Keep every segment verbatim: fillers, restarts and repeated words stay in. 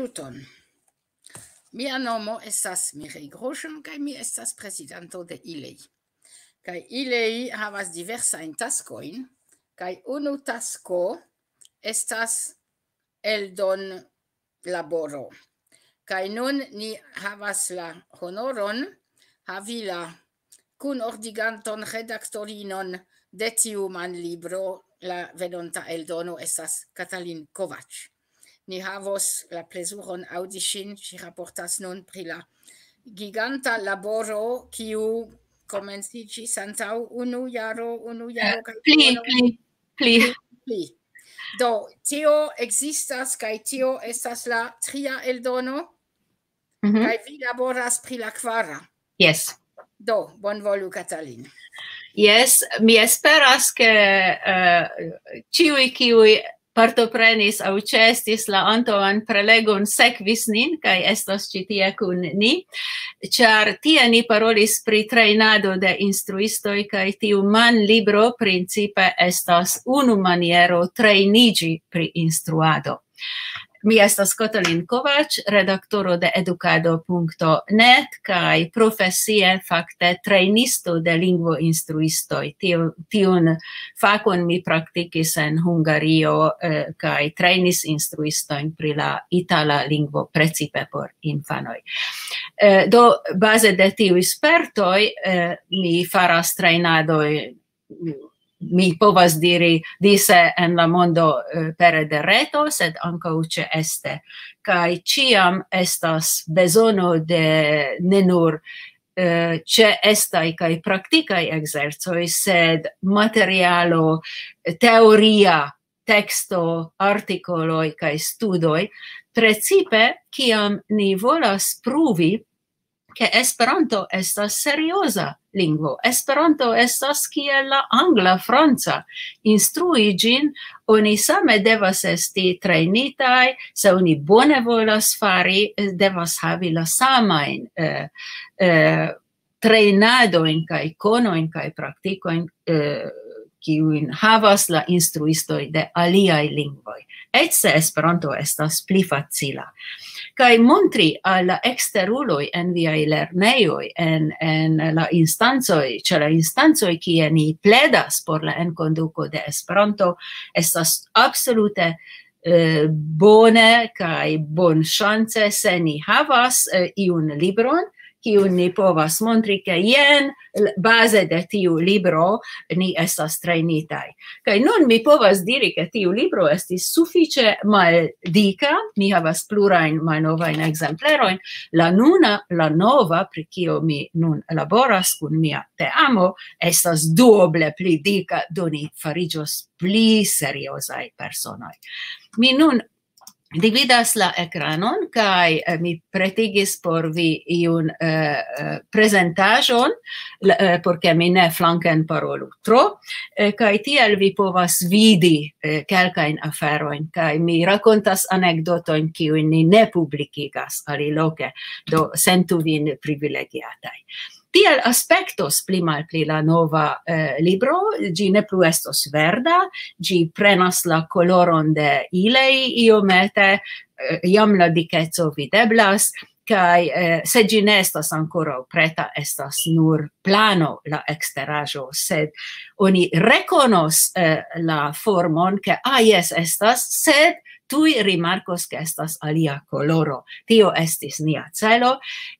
Tuton. Mia nomo estas Mireille Groschen, kaj mi estas prezidanto de ILEI. Kaj ILEI havas diversajn taskojn, kaj unu tasko estas eldon laboro. Kaj nun ni havas la honoron havi la kunordiganton, redaktorinon de tiu manlibro. La venonta eldono estas Katalin Kovac. Ni havos la plezuron aŭdi ŝin. Ŝi raportas nun pri la giganta laboro, kiu komenciĝis antaŭ unu jaro, unu jaro kaj Pli, duono. pli, pli. Pli. Do, tio ekzistas, kaj tio estas la tria eldono, Mhm. kaj vi laboras pri la kvara. Yes. Do, bonvolu, Katalin. Yes, mi esperas, ke eh, ĉiuj, kiuj partoprenis aŭ ĉeestis la antaŭan prelegon, sekvis nin kaj estas ĉi tie kun ni, ĉar tie ni parolis pri trejnado de instruistoj, kaj tiu manlibro principe estas unu maniero trejniĝi pri instruado. Mi estas Katalin Kovac, redaktoro de edukado punkto net, kaj profesie fakte trejnisto de lingvoinstruistoj. Tiu-, tiun fakon mi praktikis en Hungario, eh, kaj trejnis instruistojn pri la itala lingvo, precipe por infanoj. Eh, do, baze de tiuj spertoj, eh, mi faras trejnadoj, mi povas diri, dise en la mondo, eh, pere de reto, sed ankaŭ ĉeeste. Kaj ĉiam estas bezono de ne nur eh, ĉeestaj kaj praktikaj ekzercoj, sed materialo, teoria teksto, artikoloj kaj studoj, precipe kiam ni volas pruvi, ke Esperanto estas serioza lingvo. Esperanto estas kiel la angla, franca. Instrui ĝin, oni same devas esti trejnitaj, se oni bone volas fari, eh, devas havi la samajn, eh, eh, trejnadojn kaj konojn kaj praktikojn, eh, kiujn havas la instruistoj de aliaj lingvoj. Eĉ se Esperanto estas pli facila. Kaj montri al la eksteruloj en viaj lernejoj, en, en la instancoj, ĉe la instancoj, kie ni pledas por la enkonduko de Esperanto, estas absolute, eh, bone kaj bonŝance, se ni havas, eh, iun libron, kiun ni povas montri, ke jen, l-, baze de tiu libro ni estas trejnitaj. Kaj nun mi povas diri, ke tiu libro estis sufiĉe maldika. Mi havas plurajn malnovajn ekzemplerojn. La nuna, la nova, pri kio mi nun laboras kun mia teamo, estas duoble pli dika, do ni fariĝos pli seriozaj personoj. Mi nun dividas la ekranon, kaj, eh, mi pretigis por vi iun, eh, eh, prezentaĵon, l-, eh, por ke mi ne flanken parolu tro, eh, kaj tiel vi povas vidi, eh, kelkajn aferojn, kaj mi rakontas anekdotojn, kiujn ni ne publikigas aliloke, do sentu vin privilegiataj. Tiel aspektos pli malpli la nova, eh, libro, ĝi ne plu estos verda, ĝi prenas la koloron de ILEI iomete, eh, jam la dikeco videblas, kaj, eh, se ĝi ne estas ankoraŭ preta, estas nur plano la eksteraĵo, sed oni rekonos, eh, la formon, ke, ah, jes, estas, sed tuj rimarkos, ke estas alia koloro. Tio estis nia celo.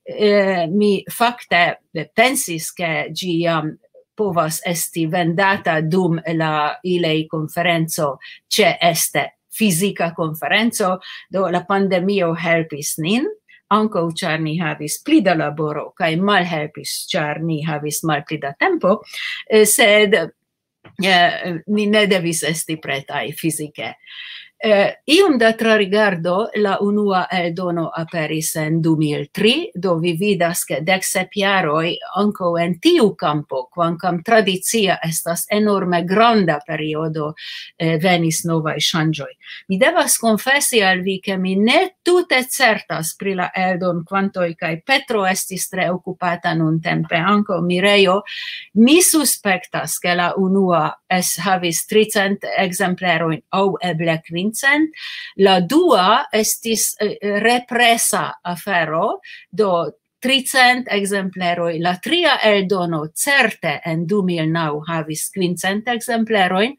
Eh, mi fakte pensis, ke ĝi jam povas esti vendata dum la ILEI konferenco, ĉeeste fizika konferenco, do la pandemio helpis nin, ankaŭ ĉar ni havis pli da laboro, kaj malhelpis, ĉar ni havis malpli da tempo, eh, sed, eh, ni ne devis esti pretaj fizike. Eh, iom da trarigardo, la unua eldono aperis en du mil tri, do vi vidas, ke dek sep jaroj ankaŭ en tiu kampo, kvankam tradicia, estas enorme granda periodo, eh, venis novaj ŝanĝoj. Mi devas konfesi al vi, ke mi ne tute certas pri la eldon-kvantoj, kaj Petro estis tre okupata nuntempe, ankaŭ Mirejo. Mi suspektas, ke la unua es-, havis tricent ekzemplerojn aŭ eble cent. La dua estis, eh, represa afero, do tricent ekzempleroj, la tria eldono certe en du mil naŭ havis kvincent ekzemplerojn,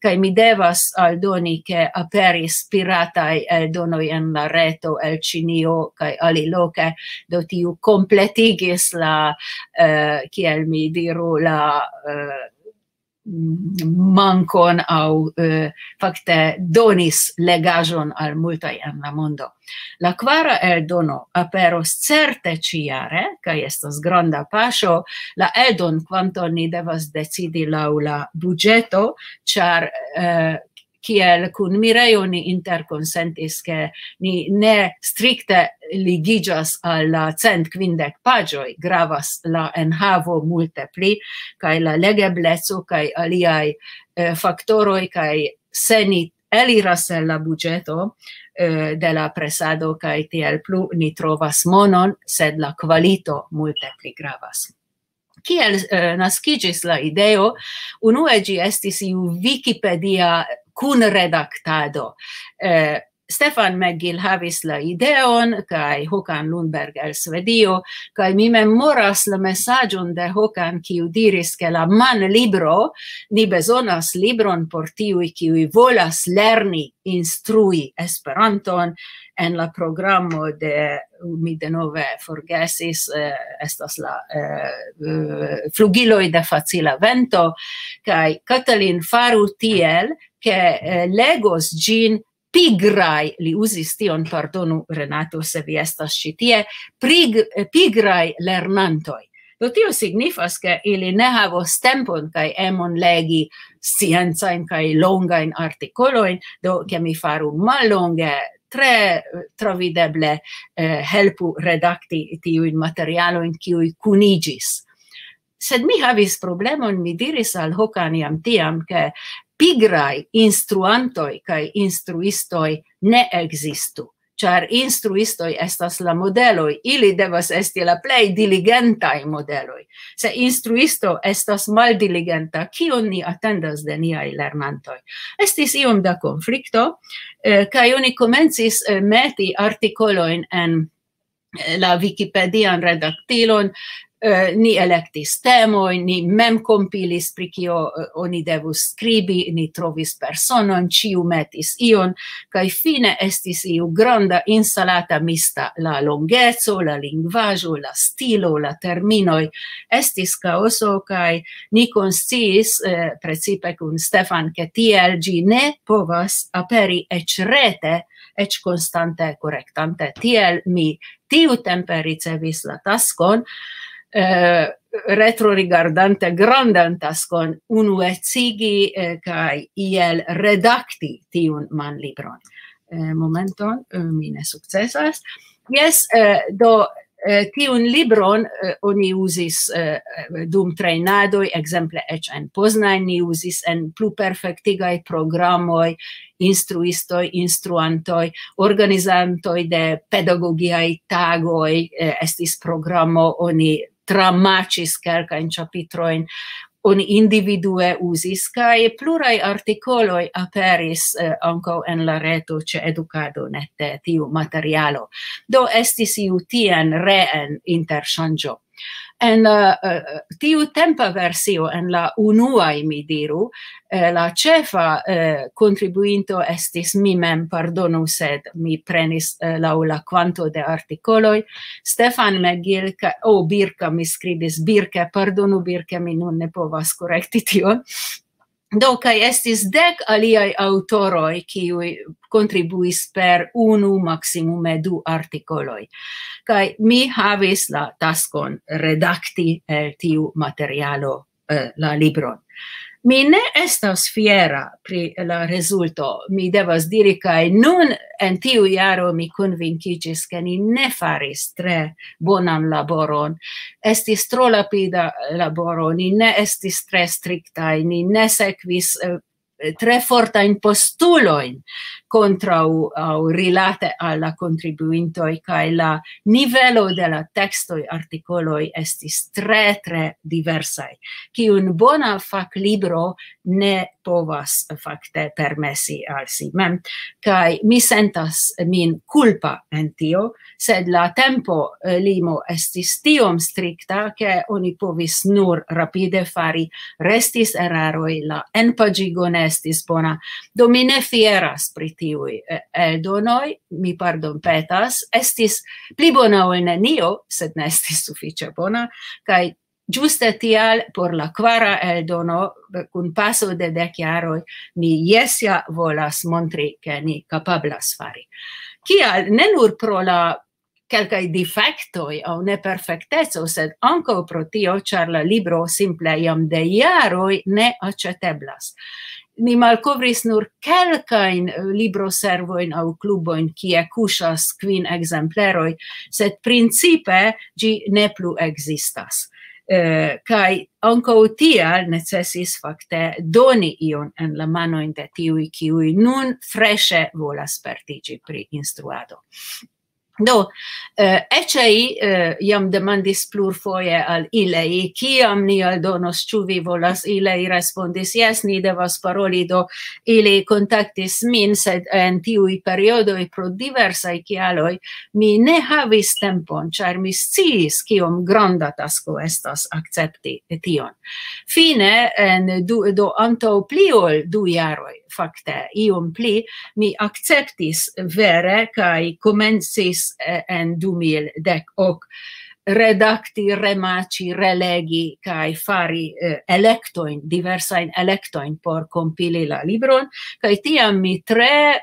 kaj mi devas aldoni, ke aperis pirataj eldonoj en la reto el Ĉinio kaj aliloke, do tiu kompletigis la, eh, kiel mi diru, la, eh, mankon aŭ, eh, fakte donis legaĵon al multaj en la mondo. La kvara eldono aperos certe ĉijare, kaj estas granda paŝo. La eldon kvanton ni devas decidi laŭ la buĝeto, ĉar, eh, kiel kun Mirejo ni interkonsentis, ke ni ne strikte ligiĝas al la cent kvindek paĝoj, gravas la enhavo multe pli, kaj la legebleco kaj aliaj, eh, faktoroj, kaj se ni eliras el la buĝeto, eh, de la presado kaj tiel plu, ni trovas monon, sed la kvalito multe pli gravas. Kiel, eh, naskiĝis la ideo? Unue ĝi estis iu Wikipedia kunredaktado. Eh, Stefan McGill havis la ideon, kaj Håkan Lundberg el Svedio, kaj mi memoras la mesaĝon de Håkan, kiu diris, ke la manlibro, ni bezonas libron por tiuj, kiuj volas lerni instrui Esperanton en la programo de, mi denove forgesis, eh, estas la, eh, eh, Flugiloj de facila vento, kaj Katalin faru tiel, ke, eh, legos ĝin pigraj, li uzis tion, pardonu Renato, se vi estas ĉi tie, prig-, eh, pigraj lernantoj. Do tio signifas, ke ili ne havos tempon kaj emon legi sciencajn kaj longajn artikolojn, do ke mi faru mallonge, tre, eh, travideble, eh, helpu redakti tiujn materialojn, kiuj kuniĝis. Sed mi havis problemon, mi diris al Håkan jam tiam, ke pigraj instruantoj kaj instruistoj ne ekzistu, ĉar instruistoj estas la modeloj, ili devas esti la plej diligentaj modeloj. Se instruisto estas maldiligenta, kion ni atendas de niaj lernantoj? Estis iom da konflikto, eh, kaj oni komencis, eh, meti artikolojn en, eh, la Wikipedian redaktilon, eh, ni elektis temojn, ni mem kompilis, pri kio, eh, oni devus skribi, ni trovis personon, ĉiu metis ion, kaj fine estis iu granda insalata mista, la longeco, la lingvaĵo, la stilo, la terminoj. Estis kaoso, kaj ni konsciis, eh, precipe kun Stefan, ke tiel ĝi ne povas aperi eĉ rete, eĉ konstante korektante. Tiel mi tiutempe ricevis la taskon, eh, retrorigardante grandan taskon, unuecigi, eh, kaj iel redakti tiun manlibron. Eh, momenton, eh, mi ne sukcesas. Jes, eh, do, eh, tiun libron, eh, oni uzis, eh, dum trejnadoj, ekzemple eĉ en Poznań, ni uzis en pluperfektigaj programoj, instruistoj, instruantoj, organizantoj de pedagogiaj tagoj, eh, estis programo, oni tramaĉis kelkajn ĉapitrojn, oni individue uzis, kaj pluraj artikoloj aperis, eh, ankaŭ en la reto ĉe Edukado net, tiu materialo. Do estis iu tien reen interŝanĝo. En, eh, eh, tiu tempa versio, en la unuaj, mi diru, eh, la ĉefa, eh, kontribuinto estis mi mem, pardonu, sed mi prenis, eh, laŭ la kvanto de artikoloj. Stefan McGill, ka-, o, Birka, mi skribis Birke, pardonu, Birke, mi nun ne povas korekti tion. Do, kaj estis dek aliaj aŭtoroj, kiuj kontribuis per unu, maksimume du artikoloj. Kaj mi havis la taskon redakti el tiu materialo, eh, la libron. Mi ne estas fiera pri la rezulto. Mi devas diri, kaj nun en tiu jaro mi konvinkiĝis, ke ni ne faris tre bonan laboron. Estis tro lapida laboro, ni ne estis tre striktaj, ni ne sekvis, eh, tre fortajn postulojn. kontraŭ aŭ rilate al la kontribuintoj, kaj la nivelo de la tekstoj, artikoloj estis tre, tre diversaj, kiun bona faklibro ne povas fakte permesi al si mem. Kaj mi sentas min kulpa en tio, sed la tempo, eh, limo estis tiom strikta, ke oni povis nur rapide fari, restis eraroj, la enpaĝigo ne estis bona. Do mi ne fieras pri tiuj, eh, eldonoj, mi pardonpetas, estis pli bona ol nenio, sed ne estis sufiĉe bona, kaj ĝuste tial por la kvara eldono, eh, kun paso de dek jaroj, mi jes ja volas montri, ke ni kapablas fari. Kial? Ne nur pro la kelkaj difektoj aŭ neperfekteco, sed ankaŭ pro tio, ĉar la libro simple jam de jaroj ne aĉeteblas. Ni malkovris nur kelkajn, eh, libroservojn aŭ klubojn, kie kuŝas kvin ekzempleroj, sed principe ĝi ne plu ekzistas. Eh, kaj ankaŭ tial necesis fakte doni ion en la manojn de tiuj, kiuj nun freŝe volas spertiĝi pri instruado. Do, eh, eĉ ei, eh, jam demandis plurfoje al ilei, kiam ni aldonos, ĉu vi volas, ilei respondis, jes, ni devas paroli, do ili kontaktis min, sed en tiuj periodoj pro diversaj kialoj mi ne havis tempon, ĉar mi sciis, kiom granda tasko estas akcepti tion. Fine, en du, do antaŭ pli ol du jaroj, fakte, iom pli, mi akceptis vere kaj komencis, eh, en du mil dek ok redakti, remaĉi, relegi kaj fari, eh, elektojn, diversajn elektojn por kompili la libron, kaj tiam mi tre,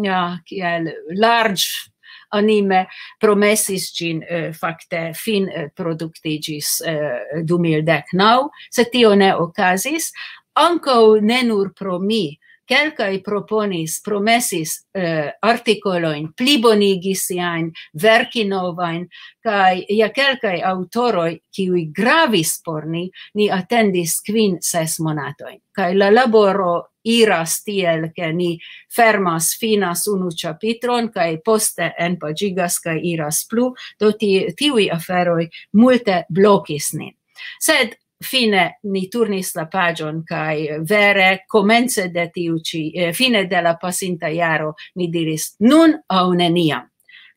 ja, kiel large anime promesis ĝin, eh, fakte fin, eh, produktiĝis, eh, du mil dek naŭ, sed tio ne okazis, ankaŭ ne nur pro mi. Kelkaj proponis, promesis, eh, artikolojn, plibonigi siajn, verki novajn, kaj ja kelkaj aŭtoroj, kiuj gravis por ni, ni atendis kvin, ses monatojn. Kaj la laboro iras tiel, ke ni fermas, finas unu ĉapitron, kaj poste enpaĝigas kaj iras plu, do ti-, tiuj aferoj multe blokis nin. Sed fine ni turnis la paĝon, kaj vere komence de tiu ĉi, eh, fine de la pasinta jaro, mi diris: "Nun aŭ neniam."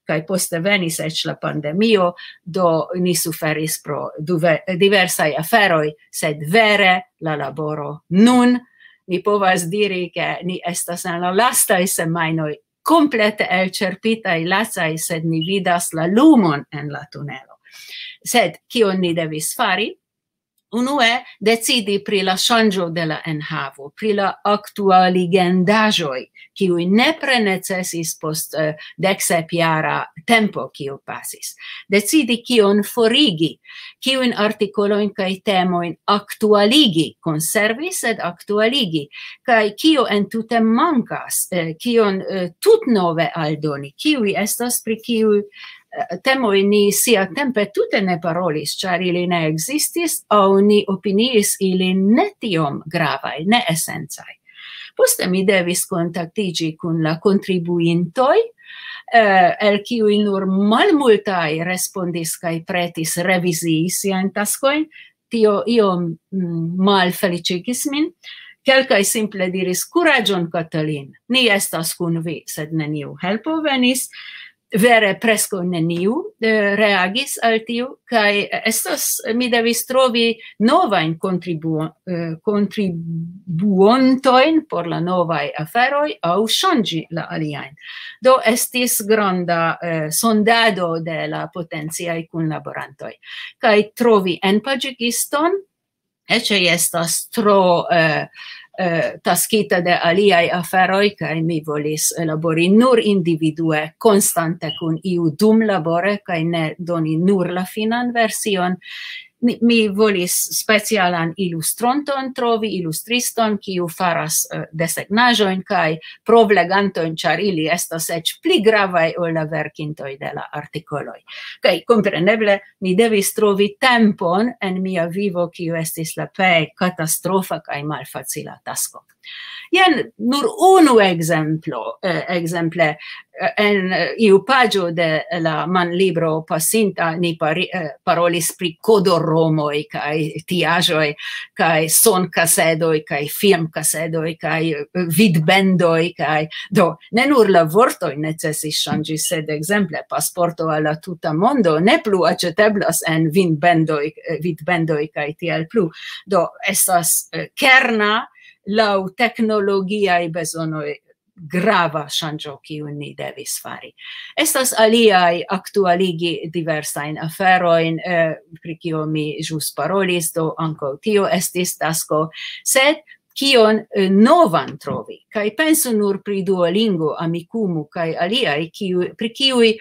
Kaj poste venis eĉ la pandemio, do ni suferis pro duve-, diversaj aferoj, sed vere la laboro nun, mi povas diri, ke ni estas en la lastaj semajnoj, komplete elĉerpitaj, lacaj, sed ni vidas la lumon en la tunelo. Sed kion ni devis fari? Unue, decidi pri la ŝanĝo de la enhavo, pri la aktualigendaĵoj, kiuj nepre necesis post, eh, dek sep jara tempo, kiu pasis. Decidi, kion forigi, kiujn artikolojn kaj temojn aktualigi, konservi, sed aktualigi, kaj kio entute mankas, eh, kion, eh, tutnove aldoni, kiuj estas, pri kiuj, eh, temoj ni siatempe tute ne parolis, ĉar ili ne ekzistis, aŭ ni opiniis ilin ne tiom gravaj, ne esencaj. Poste mi devis kontaktiĝi kun la kontribuintoj, eh, el kiuj nur malmultaj respondis kaj pretis revizii siajn taskojn. Tio iom, mm, malfeliĉigis min. Kelkaj simple diris: "Kuraĝon, Katalin, ni estas kun vi", sed neniu helpo venis. Vere preskaŭ neniu, eh, reagis al tiu, kaj estas, mi devis trovi novajn kontribuo-, eh, kontribuontojn por la novaj aferoj aŭ ŝanĝi la aliajn. Do estis granda, eh, sondado de la potenciaj kunlaborantoj. Kaj trovi enpaĝigiston, eĉ estas tro, eh, eh, taskita de aliaj aferoj, kaj mi volis labori nur individue, konstante kun iu dumlabore, kaj ne doni nur la finan version. Mi, mi volis specialan ilustronton trovi, ilustriston, kiu faras, eh, desegnaĵojn kaj provlegantojn, ĉar ili estas eĉ pli gravaj ol la verkintoj de la artikoloj. Kaj kompreneble mi devis trovi tempon en mia vivo, kiu estis la plej katastrofa kaj malfacila tasko. Jen nur unu ekzemplo, eh, ekzemple, eh, en, eh, iu paĝo de la manlibro pasinta ni pari-, eh, parolis pri kodoromoj kaj tiaĵoj, kaj sonkasedoj, kaj filmkasedoj, kaj, eh, vidbendoj, kaj do ne nur la vortoj necesis ŝanĝi, sed ekzemple pasporto al la tuta mondo ne plu aĉeteblas en vidbendoj, eh, vidbendoj kaj tiel plu. Do estas, eh, kerna laŭ teknologiaj bezonoj grava ŝanĝo, kiun ni devis fari. Estas aliaj aktualigi diversajn aferojn, eh, pri kio mi ĵus parolis, do ankaŭ tio estis tasko, sed kion, eh, novan trovi? Kaj pensu nur pri Duolingo, Amikumu kaj aliaj, kiu-, pri kiuj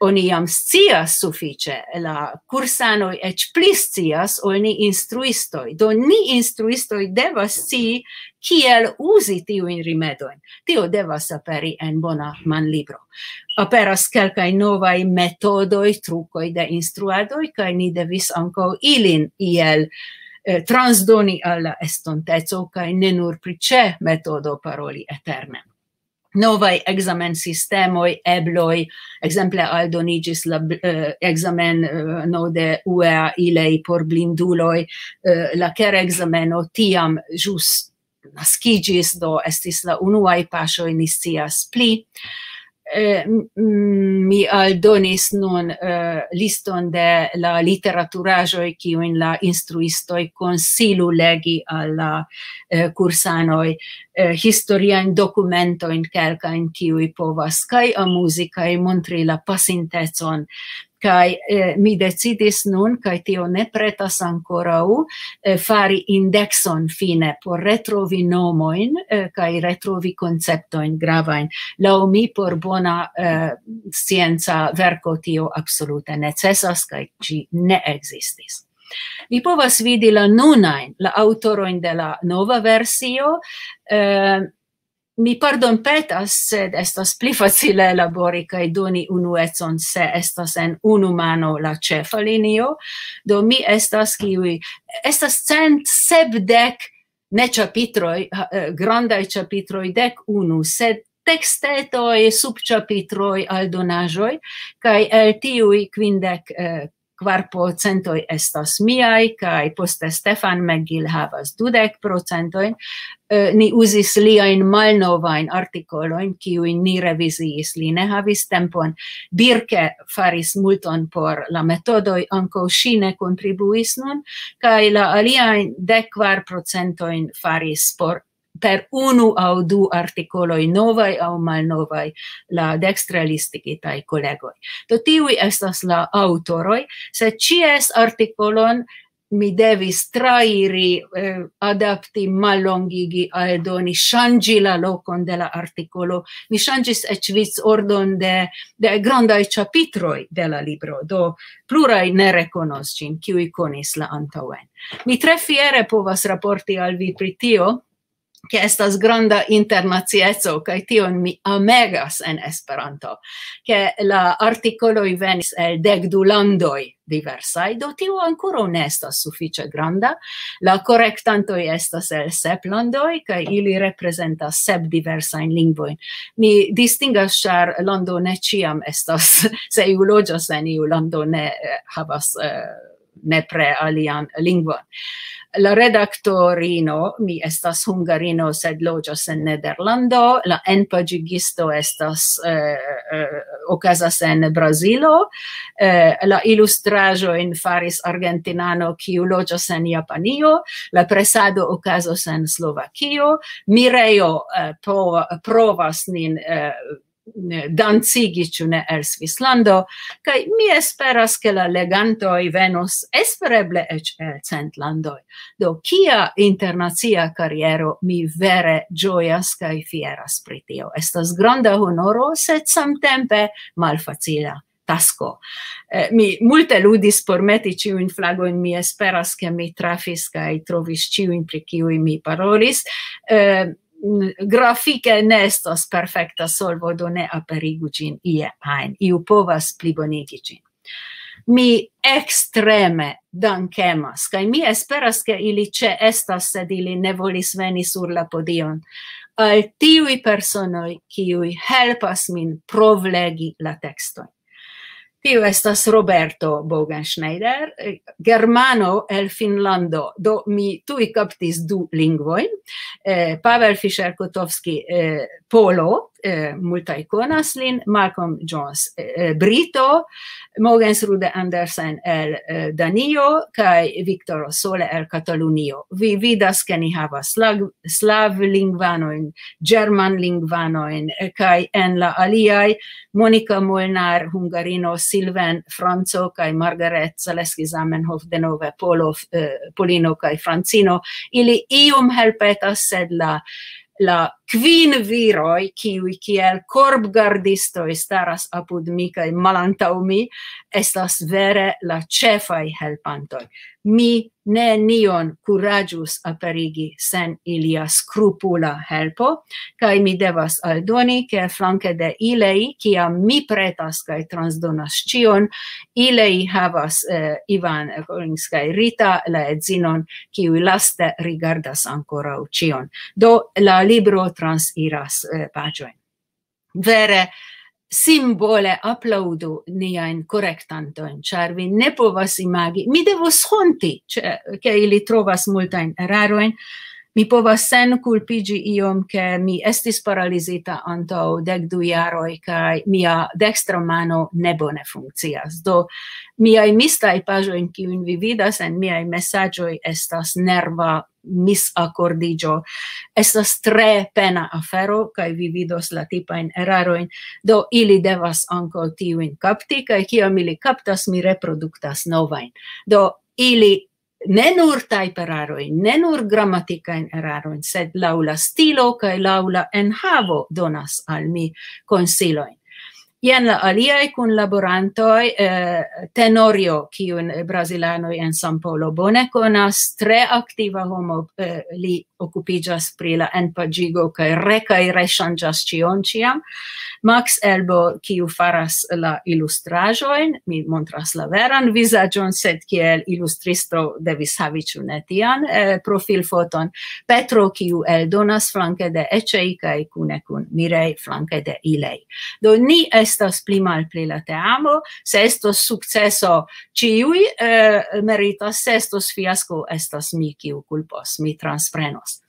oni jam scias sufiĉe, la kursanoj eĉ pli scias ol ni instruistoj. Do ni instruistoj devas scii, kiel uzi tiujn rimedojn. Tio devas aperi en bona manlibro. Aperas kelkaj novaj metodoj, trukoj de instruadoj, kaj ni devis ankaŭ ilin iel, eh, transdoni al la estonteco, kaj ne nur pri ĉe metodo paroli eterne. Novaj ekzamensistemoj, ebloj, ekzemple aldoniĝis la bl-, eh, ekzameno de U E A ILEI por blinduloj, eh, la kerekzameno tiam ĵus naskiĝis, do estis la unuaj paŝoj, ni scias pli. Eh, m-, m-, mi aldonis nun, eh, liston de la literaturaĵoj, kiujn la instruistoj konsilu legi al la, eh, kursanoj, eh, historiajn dokumentojn kelkajn, kiuj povas kaj amuzi, kaj montri la pasintecon. Kaj, eh, mi decidis nun, kaj tio ne pretas ankoraŭ, eh, fari indekson fine por retrovi nomojn, eh, kaj retrovi konceptojn gravajn. Laŭ mi por bona, eh, scienca verko tio absolute necesas, kaj ĝi ne ekzistis. Vi povas vidi la nunajn, la aŭtorojn de la nova versio, eh, mi pardonpetas, sed estas pli facile labori kaj doni unuecon, se estas en unu mano la ĉefa linio. Do mi estas kiuj, estas cent sepdek ne ĉapitroj, ha, eh, grandaj ĉapitroj, dek unu, sed tekstetoj, subĉapitroj, aldonaĵoj, kaj el tiuj kvindek, eh, kvar procentoj estas miaj, kaj poste Stefan McGill havas dudek procentojn. Eh, ni uzis liajn malnovajn artikolojn, kiujn ni reviziis. Li ne havis tempon. Birke faris multon por la metodoj, ankaŭ ŝi ne kontribuis nun, kaj la aliajn dek kvar procentojn faris por, per unu aŭ du artikoloj novaj aŭ malnovaj, la dekstre listigitaj kolegoj. Do tiuj estas la aŭtoroj, sed ĉies artikolon mi devis trairi, eh, adapti, mallongigi, aldoni, ŝanĝi la lokon de la artikolo. Mi ŝanĝis eĉ vicordon de, de grandaj ĉapitroj de la libro. Do pluraj ne rekonos ĝin, kiuj konis la antaŭen. Mi tre fiere povas raporti al vi pri tio, ke estas granda internacieco, kaj tion mi amegas en Esperanto, ke la artikoloj venis el dek du landoj diversaj, do tio ankoraŭ ne estas sufiĉe granda. La korektantoj estas el sep landoj, kaj ili reprezentas sep diversajn lingvojn. Mi distingas, ĉar lando ne ĉiam estas, se iu loĝas en iu lando, ne, eh, havas, eh, nepre alian lingvon. La redaktorino, mi estas hungarino, sed loĝas en Nederlando, la enpaĝigisto estas, eh, eh, okazas en Brazilo, eh, la ilustraĵojn faris argentinano, kiu loĝas en Japanio, la presado okazos en Slovakio, Mirejo, eh, prova-, provas nin, eh, dancigi, ĉu ne, el Svislando, kaj mi esperas, ke la legantoj venos espereble eĉ el cent landoj. Do, kia internacia kariero, mi vere ĝojas kaj fieras pri tio. Estas granda honoro, sed samtempe malfacila tasko. Eh, mi multe ludis por meti ĉiujn flagojn, mi esperas, ke mi trafis kaj trovis ĉiujn, pri kiuj mi parolis. Eh, grafike ne estas perfekta solvo, do ne aperigu ĝin ie ajn. Iu povas plibonigi ĝin. Mi ekstreme dankemas, kaj mi esperas, ke ili ĉeestas, sed ili ne volis veni sur la podion, al tiuj personoj, kiuj helpas min provlegi la tekstojn. Tiu estas Roberto Bogenschneider, eh, germano el Finnlando, do mi tuj kaptis du lingvojn, eh, Pavel Fischer-Kotowski, eh, polo, eh, multaj konas lin, Malcolm Jones, eh, brito, Mogens Rude Andersen el, eh, Danio, kaj Victor Sole el Katalunio. Vi vidas, ke ni havas slavlingvanojn, germanlingvanojn, eh, kaj en la aliaj Monika Molnar, hungarino, Silven, franco, kaj Margaret Zaleski Zamenhof, denove polo, eh, polino kaj francino. Ili iom helpetas, sed la, la kvin viroj, kiuj kiel korbgardistoj staras apud mi kaj malantaŭ mi, estas vere la ĉefaj helpantoj. Mi nenion kuraĝus aperigi sen ilia skrupula helpo, kaj mi devas aldoni, ke flanke de ilei, kiam mi pretas kaj transdonas ĉion, ilei havas, eh, Ivan Collins kaj Rita, la edzinon, kiuj laste rigardas ankoraŭ ĉion. Do la libro transiras, eh, paĝojn. Vere simbole aplaŭdu niajn korektantojn, ĉar vi ne povas imagi. Mi devus honti, ĉe-, ke ili trovas multajn erarojn. Mi povas senkulpiĝi iom, ke mi estis paralizita antaŭ dek du jaroj, kaj mia dekstra mano ne bone funkcias. Do, miaj mistaj paĝojn, kiujn vi vidas en miaj mesaĝoj, estas nerva misakordiĝo. Estas tre pena afero, kaj vi vidos la tipajn erarojn. Do, ili devas ankaŭ tiujn kapti, kaj kiam ili kaptas, mi reproduktas novajn. Do, ili ne nur tajperarojn, ne nur gramatikajn erarojn, sed laŭ la stilo kaj laŭ la enhavo donas al mi konsilojn. Jen la aliaj kunlaborantoj, eh, Tenorio, kiun brazilanoj en São Paulo bone konas, tre aktiva homo, eh, li okupiĝas pri la enpaĝigo kaj re-, kaj reŝanĝas ĉion ĉiam. Max Elbo, kiu faras la ilustraĵojn, mi montras la veran vizaĝon, sed kiel ilustristo devis havi, ĉu ne, tian, eh, profilfoton. Petro, kiu eldonas flanke de Eĉei kaj kune kun Mirei flanke de Ilei. Do, ni estas pli malpli la teamo, se estos sukceso, ĉiuj, eh, meritas, se estos fiasko, estas mi, kiu kulpos, mi transprenos.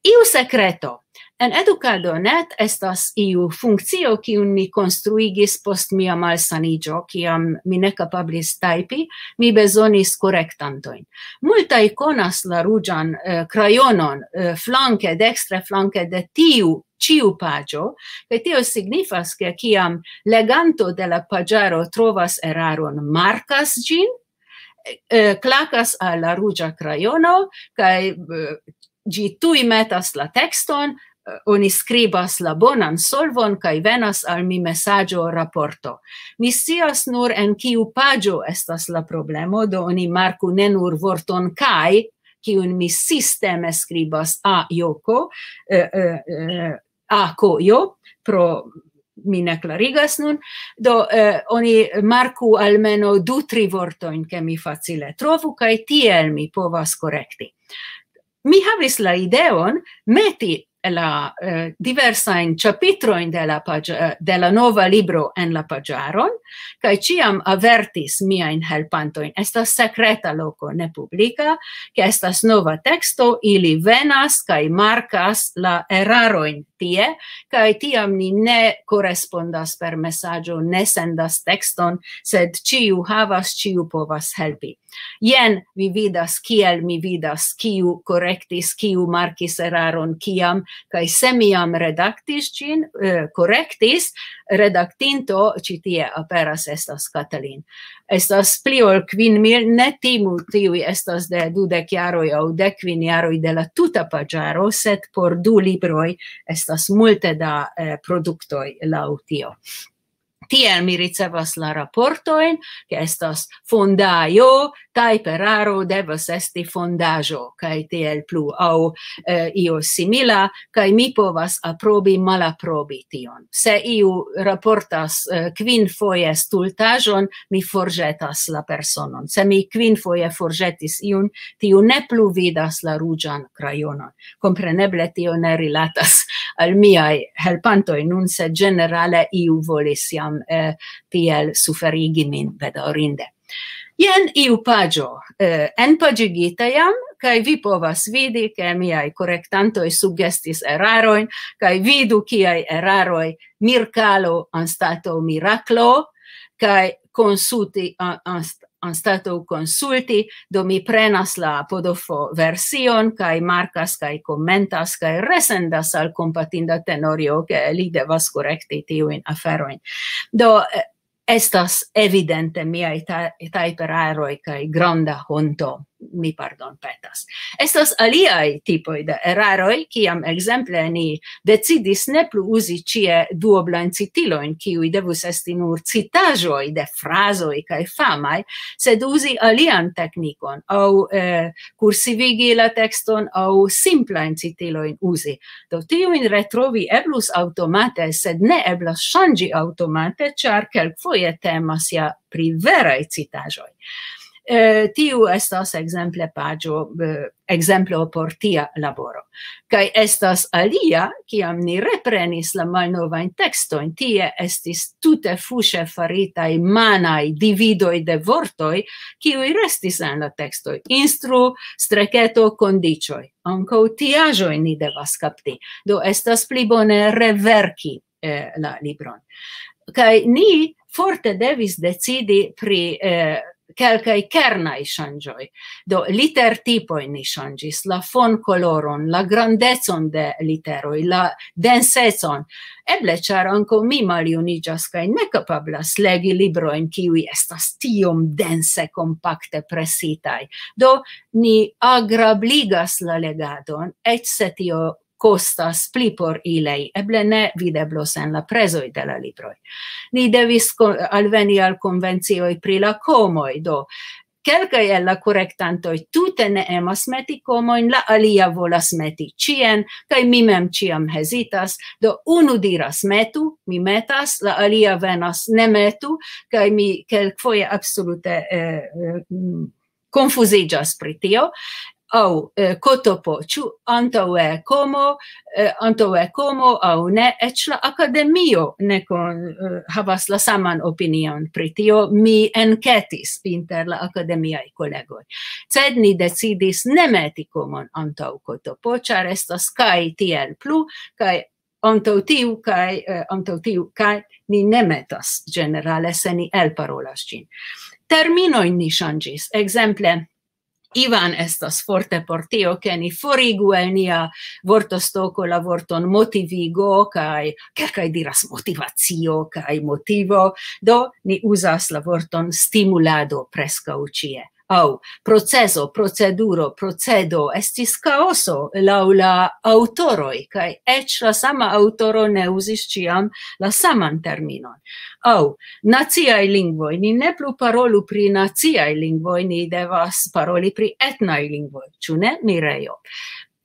Iu sekreto. En Edukado net estas iu funkcio, kiun mi konstruigis post mia malsaniĝo, kiam mi ne kapablis tajpi, mi bezonis korektantojn. Multaj konas la ruĝan, eh, krajonon, eh, flanke, dekstre flanke de tiu ĉiu paĝo, kaj tio signifas, ke kiam leganto de la paĝaro trovas eraron, markas ĝin, eh, klakas al la ruĝa krajono, kaj, eh, ĝi tuj metas la tekston, eh, oni skribas la bonan solvon, kaj venas al mi mesaĝo, raporto. Mi scias nur, en kiu paĝo estas la problemo, do oni marku ne nur vorton kaj, kiun mi sisteme skribas a joko, eh, eh, eh, a kojo, pro mi ne klarigas nun. Do, eh, oni marku almeno du, tri vortojn, ke mi facile trovu, kaj tiel mi povas korekti. Mi havis la ideon meti la, eh, diversajn ĉapitrojn de la paĝ-, eh, de la nova libro en la paĝaron, kaj ĉiam avertis miajn helpantojn. Estas sekreta loko, ne publika, ke estas nova teksto, ili venas kaj markas la erarojn tie, kaj tiam ni ne korespondas per mesaĝo, ne sendas tekston, sed ĉiu havas, ĉiu povas helpi. Jen vi vidas, kiel mi vidas, kiu korektis, kiu markis eraron, kiam, kaj se mi jam redaktis ĝin, eh, korektis, redaktinto ĉi tie aperas, estas Katalin. Estas pli ol kvin mil, ne timu, tiuj estas de dudek jaroj aŭ dek kvin jaroj de la tuta paĝaro, sed por du libroj estas multe da, eh, produktoj laŭ tio. Tiel mi ricevas la raportojn, ke estas fondaĵo, tajperaro devas esti fondaĵo, kaj tiel plu, aŭ eh, io simila, kaj mi povas aprobi, malaprobi tion. Se iu raportas eh, kvin foje stultaĵon, mi forĵetas la personon. Se mi kvin foje forĵetis iun, tiu ne plu vidas la ruĝan krajonon. Kompreneble tio ne rilatas al miaj helpantoj nun, sed ĝenerale iu volis jam eh, tiel suferigi min, bedaŭrinde. Jen iu paĝo eh, enpaĝigita jam, kaj vi povas vidi, ke miaj korektantoj sugestis erarojn, kaj vidu kiaj eraroj: Mirkalo anstataŭ miraklo, kaj konsulti a- anst- anstataŭ konsulti, do mi prenas la podofo version, kaj markas, kaj komentas, kaj resendas al kompatinda Tenorio, ke li devas korekti tiujn aferojn. Do eh, estas evidente miaj ta- tajperaroj kaj granda honto, mi pardon petas. Estas aliaj tipoj de eraroj, kiam ekzemple ni decidis ne plu uzi ĉie duoblajn citilojn, kiuj devus esti nur citaĵoj de frazoj kaj famaj, sed uzi alian teknikon, aŭ eh, kursivigi la tekston, aŭ simplajn citilojn uzi. Do tiujn retrovi eblus aŭtomate, sed ne eblas ŝanĝi aŭtomate, ĉar kelkfoje temas ja pri veraj citaĵoj. Eh, tiu estas ekzemple paĝo, eh, ekzemplo por tia laboro. Kaj estas alia, kiam ni reprenis la malnovajn tekstojn, tie estis tute fuŝe faritaj manaj dividoj de vortoj, kiuj restis en la tekstoj: instru, streketo, kondiĉoj. Ankaŭ tiaĵoj ni devas kapti. Do estas pli bone reverki eh, la libron. Kaj ni forte devis decidi pri eh, kelkaj kernaj ŝanĝoj. Do litertipoj ni ŝanĝis, la fonkoloron, la grandecon de literoj, la densecon. Eble ĉar ankaŭ mi maljuniĝas kaj ne kapablas legi librojn, kiuj estas tiom dense, kompakte presitaj. Do ni agrabligas la legadon, eĉ se tio kostas pli por ilej, eble ne videblos en la prezoj de la libroj. Ni devis ko- alveni al konvencioj pri la komoj, do kelkaj el la korektantoj tute ne emas meti komojn, la alia volas meti ĉien, kaj mi mem ĉiam hezitas. Do unu diras: "Metu", mi metas, la alia venas: "Ne metu", kaj mi kelkfoje absolute eh, eh, mm, konfuziĝas pri tio. Aŭ eh, kotopo, ĉu antaŭe komo, eh, antaŭe komo aŭ ne, eĉ la akademio ne kon, eh, havas la saman opinion pri tio. Mi enketis inter la akademiaj kolegoj. Sed ni decidis ne meti komon antaŭ kotopo, ĉar estas kaj tiel plu, kaj antaŭ tiu kaj eh, antaŭ tiu kaj ni ne metas ĝenerale, se ni elparolas ĝin. Terminojn ni ŝanĝis. Ekzemple, Ivan estas forte por tio, ke ni forigu el nia vortostoko la vorton motivigo, kaj kelkaj diras motivacio kaj motivo. Do ni uzas la vorton stimulado preskaŭ ĉie. Aŭ proceso, proceduro, procedo. Estis kaoso laŭ la aŭtoroj, kaj eĉ la sama aŭtoro ne uzis ĉiam la saman terminon. Aŭ naciaj lingvoj. Ni ne plu parolu pri naciaj lingvoj, ni devas paroli pri etnaj lingvoj, ĉu ne, Mirejo?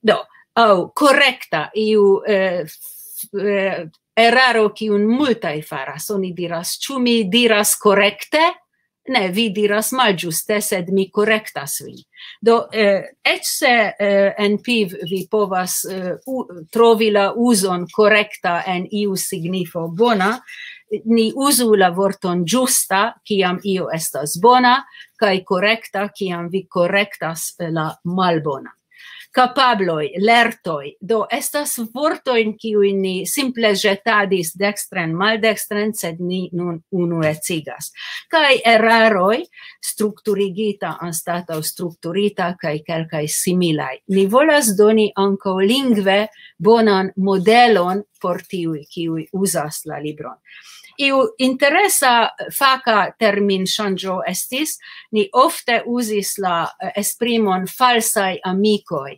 Do, aŭ korekta, iu eh, f- eh, eraro, kiun multaj faras. Oni diras: "Ĉu mi diras korekte?" "Ne, vi diras malĝuste, sed mi korektas vin." Do, eh, eĉ se eh, en piv vi povas eh, u- trovi la uzon korekta en iu signifo bona, ni uzu la vorton ĝusta, kiam io estas bona, kaj korekta, kiam vi korektas eh, la malbona. Kapabloj, lertoj, do estas vortojn, kiujn ni simple ĵetadis dekstren, maldekstren, sed ni nun unuecigas. Kaj eraroj, strukturigita anstataŭ strukturita, kaj kelkaj similaj. Ni volas doni ankaŭ lingve bonan modelon por tiuj, kiuj uzas la libron. Iu interesa faka terminŝanĝo estis, ni ofte uzis la eh, esprimon falsaj amikoj,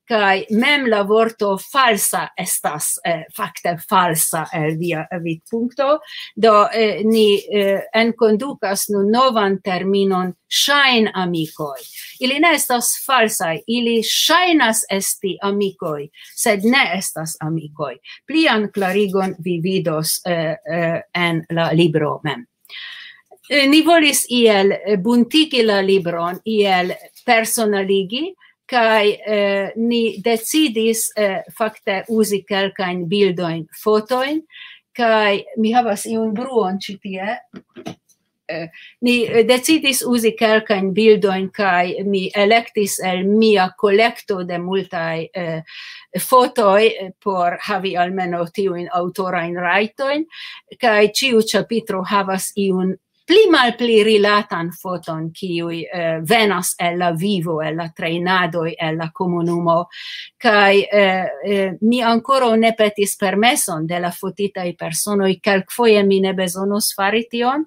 kaj mem la vorto falsa estas, eh, fakte falsa el via vidpunkto. Do, eh, ni, eh, enkondukas nun novan terminon ŝajnamikoj. Ili ne estas falsaj, ili ŝajnas esti amikoj, sed ne estas amikoj. Plian klarigon vi vidos, eh, eh, en la libro mem. Eh, ni volis iel, eh, buntigi la libron, iel personaligi, kaj, eh, ni decidis, eh, fakte uzi kelkajn bildojn, fotojn, kaj mi havas iun bruon ĉi tie. Eh, ni, eh, decidis uzi kelkajn bildojn, kaj mi elektis el mia kolekto de multaj, eh, fotoj, eh, por havi almenaŭ tiujn aŭtorajn rajtojn, kaj ĉiu ĉapitro havas iun pli malpli rilatan foton, kiuj, eh, venas el la vivo, el la trejnadoj, el la komunumo. Kaj, eh, eh, mi ankoraŭ ne petis permeson de la fotitaj personoj, kelkfoje mi ne bezonos fari tion,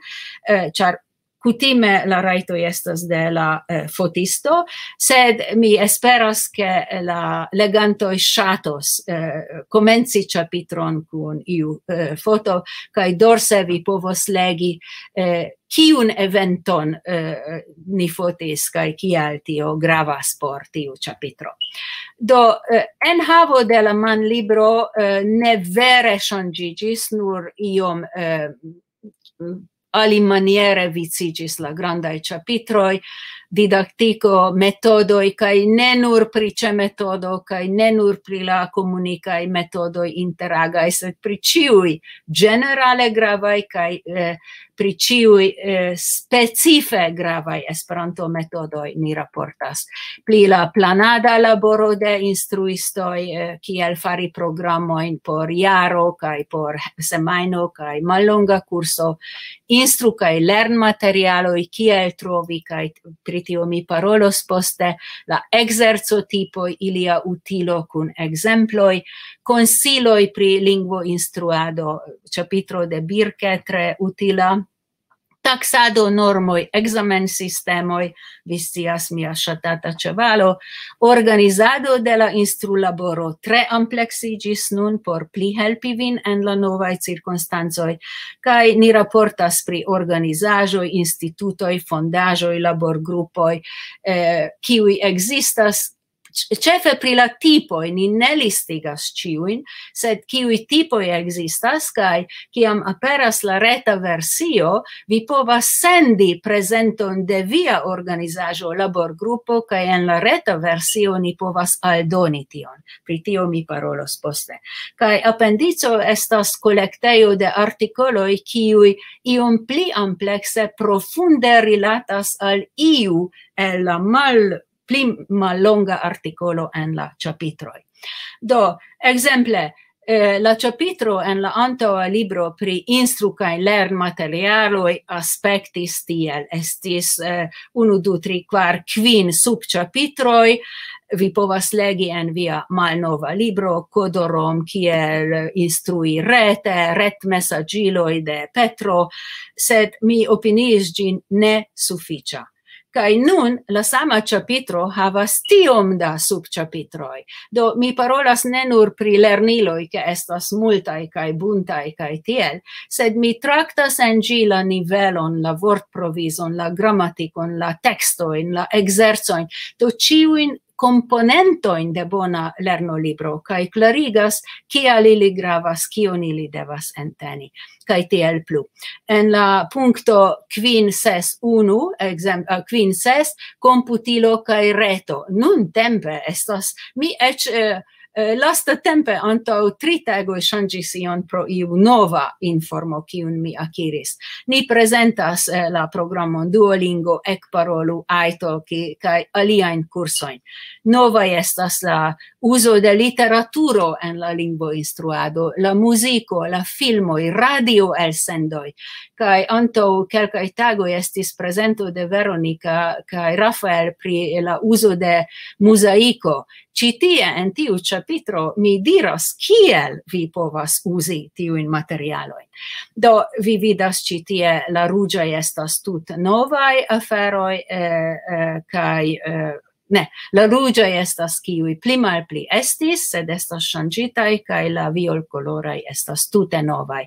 eh, ĉar kutime la rajtoj estas de la, eh, fotisto, sed mi esperas, ke la legantoj ŝatos, eh, komenci ĉapitron kun iu, eh, foto, kaj dorse vi povos legi, eh, kiun eventon, eh, ni fotis, kaj kial tio gravas por tiu ĉapitro. Do, eh, enhavo de la manlibro, eh, ne vere ŝanĝiĝis, nur iom, eh, alimaniere viciĝis la grandaj ĉapitroj, didaktiko, metodoj, kaj ne nur pri ĉemetodo, kaj ne nur pri la komunikaj metodoj interagaj, sed pri ĉiuj ĝenerale gravaj kaj, eh, pri ĉiuj, eh, specife gravaj Esperanto-metodoj ni raportas. Pri la planada laboro de instruistoj, eh, kiel fari programojn por jaro kaj por semajno kaj mallonga kurso, instru kaj lernmaterialoj, kiel trovi, kaj pri tio mi parolos poste, la ekzercotipoj, ilia utilo kun ekzemploj, konsiloj pri lingvoinstruado, ĉapitro de Birke tre utila, taksado, normoj, ekzamensistemoj, vi scias, mia ŝatata ĉevalo, organizado de la instrulaboro tre ampleksiĝis nun por pli helpi vin en la novaj cirkonstancoj, kaj ni raportas pri organizaĵoj, institutoj, fondaĵoj, laborgrupoj, eh, kiuj ekzistas, ĉ-, ĉefe pri la tipoj, ni ne listigas ĉiujn, sed kiuj tipoj ekzistas, kaj kiam aperas la reta versio, vi povas sendi prezenton de via organizaĵo, laborgrupo, kaj en la reta versio ni povas aldoni tion. Pri tio mi parolos poste. Kaj apendico estas kolektejo de artikoloj, kiuj iom pli amplekse profunde rilatas al iu el la mal-, pli mallonga artikolo en la ĉapitroj. Do, ekzemple, eh, la ĉapitro en la antaŭa libro pri instru kaj lernmaterialoj aspektis tiel. Estis, eh, unu, du, tri, kvar, kvin subĉapitroj. Vi povas legi en via malnova libro, Kodorom, kiel instrui rete, retmesaĝiloj de Petro, sed mi opiniis ĝin ne sufiĉa. Kaj nun la sama ĉapitro havas tiom da subĉapitroj. Do, mi parolas ne nur pri lerniloj, ke estas multaj kaj buntaj kaj tiel, sed mi traktas en ĝi la nivelon, la vortprovizon, la gramatikon, la tekstojn, la ekzercojn, do ĉiujn komponentojn de bona lernolibro, kaj klarigas, kial ili gravas, kion ili devas enteni, kaj tiel plu. En la punkto kvin ses unu, ekzem-, eh, kvin ses, komputilo kaj reto. Nuntempe estas, mi eĉ, eh, eh, lastatempe antaŭ tri tagoj ŝanĝis ion pro iu nova informo, kiun mi akiris. Ni prezentas, eh, la programon Duolingo, Ekparolu, iTalki kaj aliajn kursojn. Novaj estas la uzo de literaturo en la lingvoinstruado, la muziko, la filmoj, radioelsendoj. Kaj antaŭ kelkaj tagoj estis prezento de Veronika kaj Rafael pri la uzo de muzaiko. Ĉi tie en tiu ĉapitro mi diras, kiel vi povas uzi tiujn materialojn. Do, vi vidas ĉi tie, la ruĝaj estas tut novaj aferoj, eh, eh, kaj, eh, Ne, la ruĝaj estas kiuj pli malpli estis, sed estas ŝanĝitaj, kaj la violkoloraj estas tute novaj.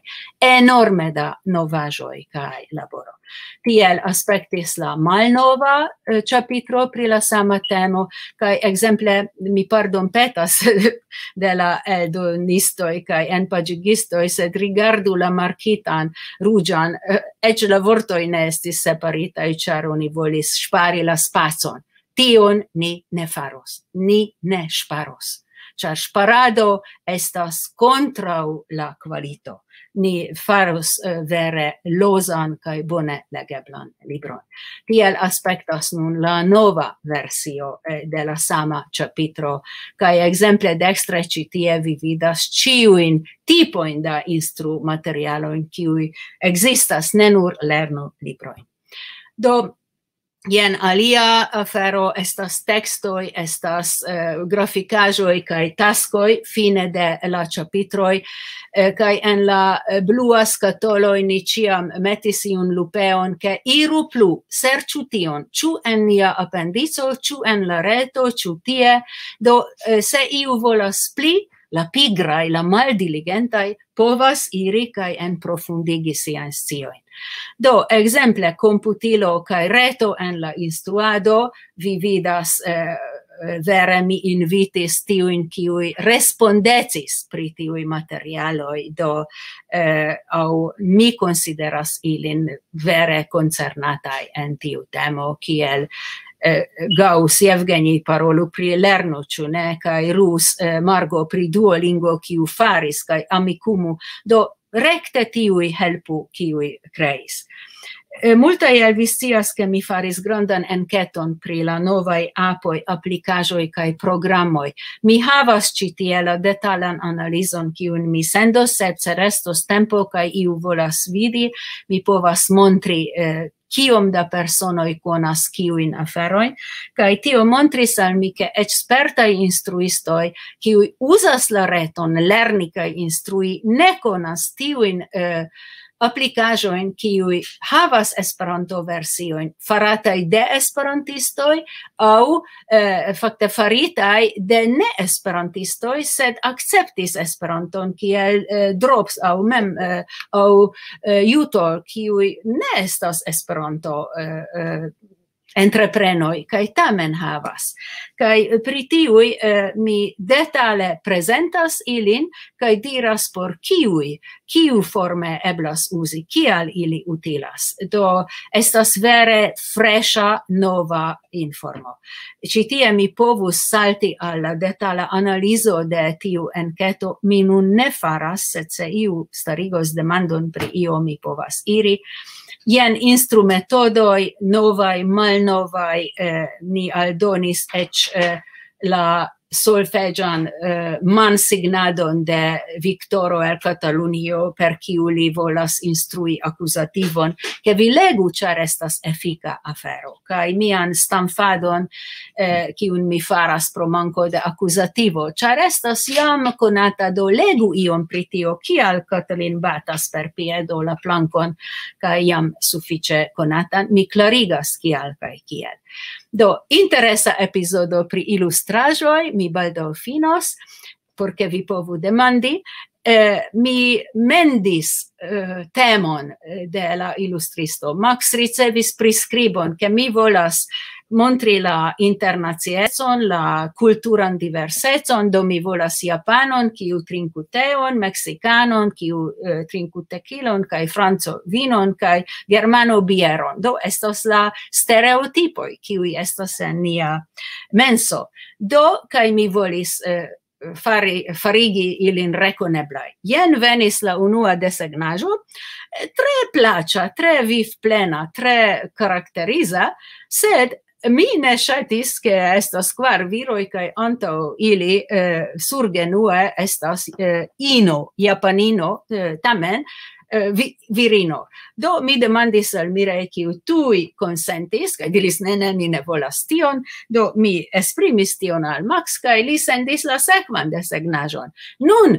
Enorme da novaĵoj kaj laboro. Tiel aspektis la malnova eh, ĉapitro pri la sama temo, kaj ekzemple mi pardonpetas de la eldonistoj kaj enpaĝigistoj, sed rigardu la markitan ruĝan, eh, eĉ la vortoj ne estis separitaj, ĉar oni volis ŝpari la spacon. Tion ni ne faros, ni ne ŝparos, ĉar ŝparado estas kontraŭ la kvalito. Ni faros eh, vere lozan kaj bone legeblan libron. Tiel aspektas nun la nova versio eh, de la sama ĉapitro, kaj ekzemple dekstre ĉi tie vi vidas ĉiujn tipojn da instrumaterialojn, kiuj ekzistas, ne nur lernu librojn. Do, jen alia afero, estas tekstoj, estas eh, grafikaĵoj kaj taskoj fine de la ĉapitroj, eh, kaj en la eh, blua skatoloj ni ĉiam metis iun lupeon, ke iru plu, serĉu tion, ĉu en nia apendico, ĉu en la reto, ĉu tie. Do, eh, se iu volas pli, la pigraj, la maldiligentaj, povas iri kaj enprofundigi siajn sciojn. Do, ekzemple, komputilo kaj reto en la instruado, vi vidas, eh, vere mi invitis tiujn, kiuj respondecis pri tiuj materialoj, do eh, aŭ mi konsideras ilin vere koncernataj en tiu temo, kiel eh, Gauss, Jevgeni parolu pri lerno, ĉu ne, kaj Rus, eh, Margo pri Duolingo, kiu faris, kaj Amikumu. Do, rekte tiuj helpu, kiuj kreis. Eh, multaj el vi scias, ke mi faris grandan enketon pri la novaj apoj, aplikaĵoj kaj programoj. Mi havas ĉi tie la detalan analizon, kiun mi sendos, sed se restos tempo kaj iu volas vidi, mi povas montri eh, kiom da personoj konas kiujn aferojn, kaj tio montris al mi, ke eĉ spertaj instruistoj, kiuj uzas la reton lerni kaj instrui, ne konas tiujn eh, aplikaĵojn, kiuj havas Esperanto-versiojn farataj de esperantistoj aŭ eh, fakte faritaj de ne-esperantistoj, sed akceptis Esperanton kiel eh, Drops aŭ mem eh, aŭ eh, Jutol, kiuj ne estas Esperanto eh, eh, entreprenoj, kaj tamen havas. Kaj pri tiuj eh, mi detale prezentas ilin kaj diras por kiuj, kiu forme eblas uzi, kial ili utilas. Do, estas vere freŝa, nova informo. Ĉi tie mi povus salti al la detala analizo de tiu enketo, mi nun ne faras, sed se iu starigos demandon pri io, mi povas iri. Jen instrumetodoj, novaj, malnovaj, eh, ni aldonis eĉ eh, la solfeĝan eh, mansignadon de Viktoro el Katalunio, per kiu li volas instrui akuzativon, ke vi legu, ĉar estas efika afero. Kaj mian stamfadon, eh, kiun mi faras pro manko de akuzativo, ĉar estas jam konata, do legu ion pri tio, kial Katalin batas per piedo la plankon, kaj jam sufiĉe konata, mi klarigas kial kaj kiel. Do, interesa epizodo pri ilustraĵoj, mi baldaŭ finos, por ke vi povu demandi. Eh, mi mendis eh, temon eh, de la ilustristo. Max ricevis priskribon, ke mi volas montri la internaciecon, la kulturan diversecon, do mi volas japanon, kiu trinku teon, meksikanon, kiu eh, trinku tekilon, kaj franco vinon, kaj germano bieron. Do, estas la stereotipoj, kiuj estas en nia menso. Do, kaj mi volis eh, fari, farigi ilin rekoneblaj. Jen venis la unua desegnaĵo, eh, tre plaĉa, tre vivplena, tre karakteriza, sed mi ne ŝatis, ke estas kvar viroj kaj antaŭ ili eh, surgenue estas eh, ino, japanino, eh, tamen eh, vi, virino. Do mi demandis al Mirei, kiu tuj konsentis, kaj diris: "Ne, ne, mi ne volas tion." Do mi esprimis tion al Max, kaj li sendis la sekvan desegnaĵon. Nun,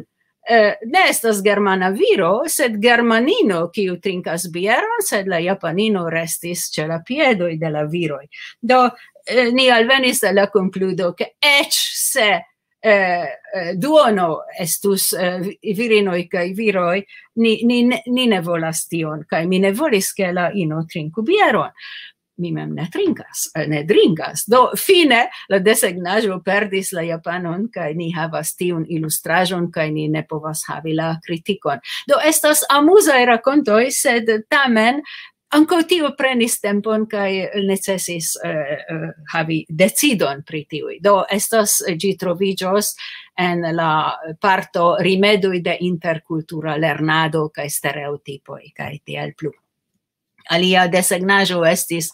eh, ne estas germana viro, sed germanino, kiu trinkas bieron, sed la japanino restis ĉe la piedoj de la viroj. Do, eh, ni alvenis al la konkludo, ke eĉ se, eh, eh, duono estus, eh, vi-, virinoj kaj viroj, ni, ni ne, ni ne volas tion, kaj mi ne volis, ke la ino trinku bieron. Mi mem ne trinkas, eh, ne drinkas. Do, fine la desegnaĵo perdis la japanon, kaj ni havas tiun ilustraĵon, kaj ni ne povas havi la kritikon. Do, estas amuzaj rakontoj, sed tamen ankaŭ tio prenis tempon, kaj necesis, eh, eh, havi decidon pri tiuj. Do, estas, ĝi troviĝos en la parto rimedoj de interkultura lernado kaj stereotipoj kaj tiel plu. Alia desegnaĵo estis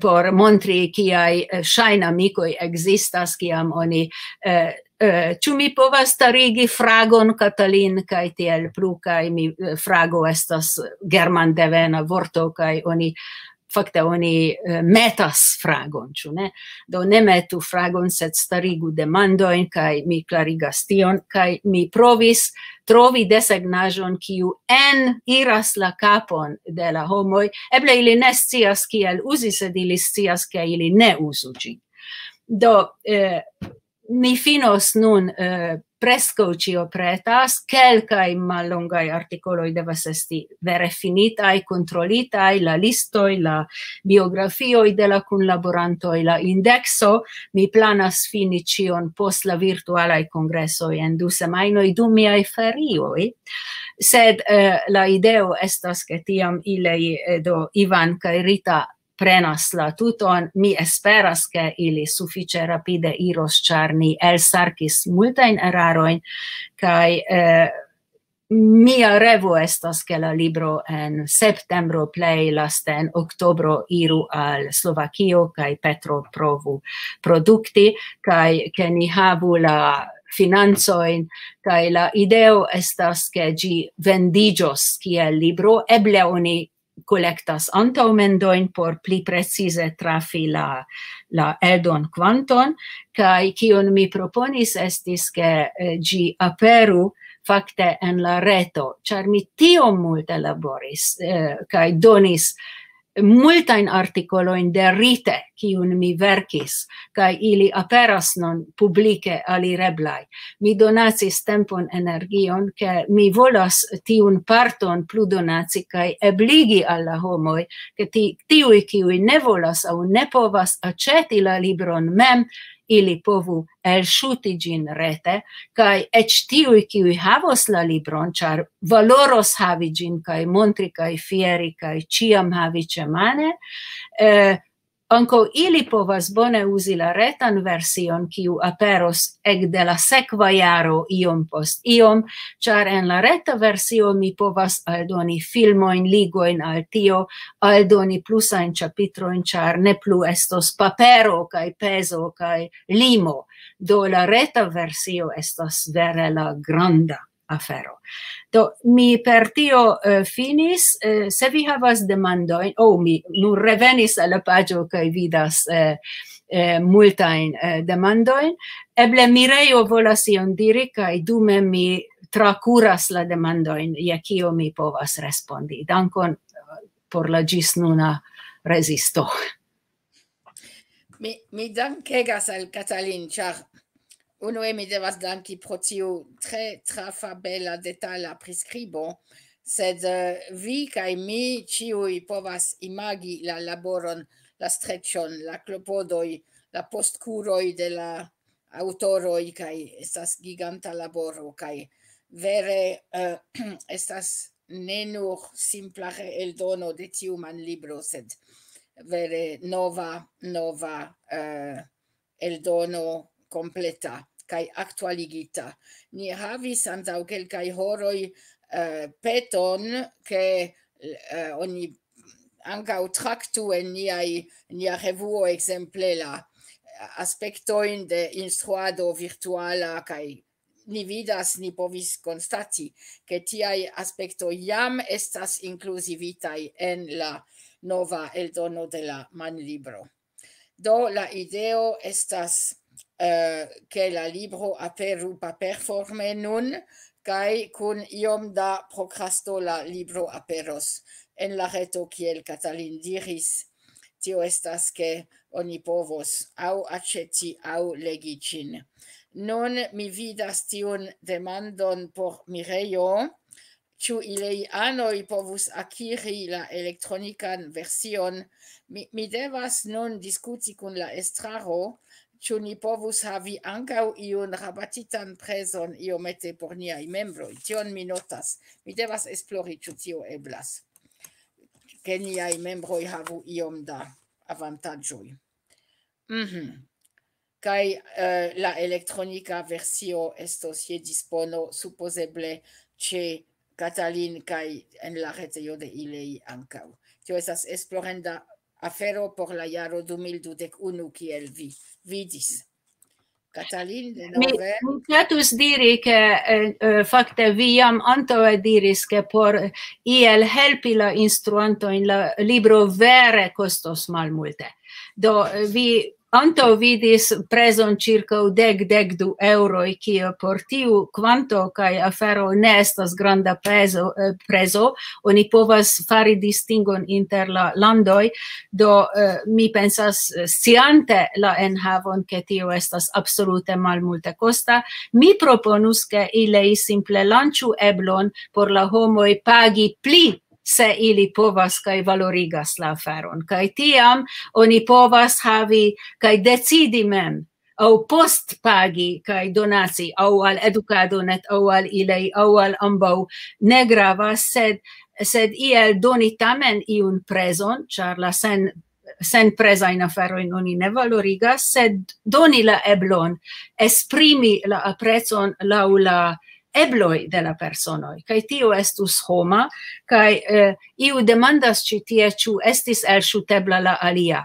por montri, kiaj, eh, ŝajnamikoj ekzistas, kiam oni, eh, eh, ĉu mi povas starigi fragon, Katalin, kaj tiel plu, kaj mi, eh, frago estas germandevena vorto, kaj oni, fakte oni, eh, metas fragon, ĉu ne? Do ne metu fragon, sed starigu demandojn, kaj mi klarigas tion, kaj mi provis trovi desegnaĵon, kiu en iras la kapon de la homoj. Eble ili ne scias kiel uzi, sed ili scias, ke ili ne uzu ĝin. Do, eh, mi finos nun, eh, preskaŭ ĉio pretas, kelkaj mallongaj artikoloj devas esti vere finitaj, kontrolitaj, la listoj, la biografioj de la kunlaborantoj, la indekso. Mi planas fini ĉion post la virtualaj kongresoj en du semajnoj dum miaj ferioj. Sed, eh, la ideo estas, ke tiam ili, eh, do Ivan kaj Rita prenas la tuton. Mi esperas, ke ili sufiĉe rapide iros, ĉar ni elsarkis multajn erarojn, kaj, eh, mia revo estas, ke la libro en septembro, plej laste en oktobro, iru al Slovakio, kaj Petro provu produkti, kaj ke ni havu la financojn, kaj la ideo estas, ke ĝi vendiĝos kiel libro. Eble oni kolektas antaŭmendojn por pli precize trafi la, la eldon kvanton, kaj kion mi proponis estis, ke, eh, ĝi aperu fakte en la reto, ĉar mi tiom multe laboris, eh, kaj donis multajn artikolojn derite, kiun mi verkis, kaj ili aperas nun publike alireblaj. Mi donacis tempon, energion, ke mi volas tiun parton plu donaci kaj ebligi al la homoj, ke ti-, tiuj, kiuj ne volas aŭ ne povas aĉeti la libron mem, ili povu elŝuti ĝin rete, kaj eĉ tiuj, kiuj havos la libron, ĉar valoros havi ĝin kaj montri kaj fieri kaj ĉiam havi ĉemane, eh, ankaŭ ili povas bone uzi la retan version, kiu aperos ekde la sekva jaro iom post iom, ĉar en la reta versio mi povas aldoni filmojn, ligojn al tio, aldoni plusajn ĉapitrojn, ĉar ne plu estos papero kaj pezo kaj limo. Do la reta versio estas vere la granda afero. Do, mi per tio, eh, finis. Eh, se vi havas demandojn, oh, mi nur revenis al la paĝo kaj vidas, eh, eh, multajn, eh, demandojn. Eble Mirejo volas ion diri, kaj dume mi trakuras la demandojn, je kio mi povas respondi. Dankon, eh, por la ĝisnuna rezisto. Mi, mi dankegas al Katalin, ĉar unue mi devas danki pro tiu tre trafa, bela, detala priskribo, sed, eh, vi kaj mi ĉiuj povas imagi la laboron, la streĉon, la klopodoj, la postkuroj de la aŭtoroj, kaj estas giganta laboro, kaj vere, eh, estas ne nur simpla reeldono de tiu manlibro, sed vere nova, nova, eh, eldono kompleta kaj aktualigita. Ni havis antaŭ kelkaj horoj, eh, peton, ke, eh, oni ankaŭ traktu en niaj, nia revuo ekzemple la aspektojn de instruado virtuala, kaj ni vidas, ni povis konstati, ke tiaj aspektoj jam estas inkluzivitaj en la nova eldono de la manlibro. Do la ideo estas, eh, ke la libro aperu paperforme nun, Kaj kun iom da prokrasto la libro aperos en la reto, kiel Katalin diris. Tio estas, ke oni povos aŭ aĉeti aŭ legi ĝin. Nun mi vidas tiun demandon por Mirejo. Ĉu ileanoj povus akiri la elektronikan version? Mi, mi devas nun diskuti kun la estraro, ĉu ni povus havi ankaŭ iun rabatitan prezon iomete por niaj membroj. Tion mi notas. Mi devas esplori, ĉu tio eblas, ke niaj membroj havu iom da avantaĝoj. Mhm. Kaj, eh, la elektronika versio estos je dispono supozeble ĉe Katalin kaj en la retejo de Ilei ankaŭ. Tio estas esplorenda afero por la jaro du mil dudek unu, kiel vi vidis. Katalin, de Mi, nove. Mi ŝatus diri, ke eh, eh, fakte vi jam antaŭe diris, ke por iel helpi la instruantojn la libro vere kostos malmulte. Do eh, vi antaŭ vidis prezon ĉirkaŭ dek, dek du eŭroj, kio por tiu kvanto kaj afero ne estas granda prezo, eh, prezo. Oni povas fari distingon inter la landoj. Do eh, mi pensas, eh, sciante la enhavon, ke tio estas absolute malmulte kosta, mi proponus, ke Ilei simple lanĉu eblon por la homoj pagi pli, se ili povas kaj valorigas la aferon. Kaj tiam oni povas havi kaj decidi mem, aŭ post pagi kaj donaci, aŭ al Edukado net, aŭ al Ilei, aŭ al ambaŭ, ne gravas, sed, sed iel doni tamen iun prezon, ĉar la sen, senprezajn aferojn oni ne valorigas, sed doni la eblon esprimi la aprecon laŭ la ebloj de la personoj. Kaj tio estus homa, kaj eh, iu demandas ĉi tie, ĉu estis elŝutebla la alia.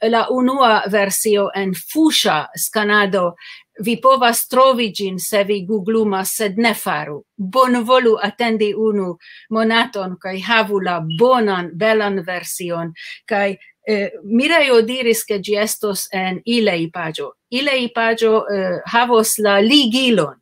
La unua versio en fuŝa skanado, vi povas trovi ĝin, se vi googlumas, sed ne faru. Bonvolu atendi unu monaton kaj havu la bonan, belan version. Kaj eh, Mirejo diris, ke ĝi estos en Ilei paĝo. Ilei paĝo eh, havos la ligilon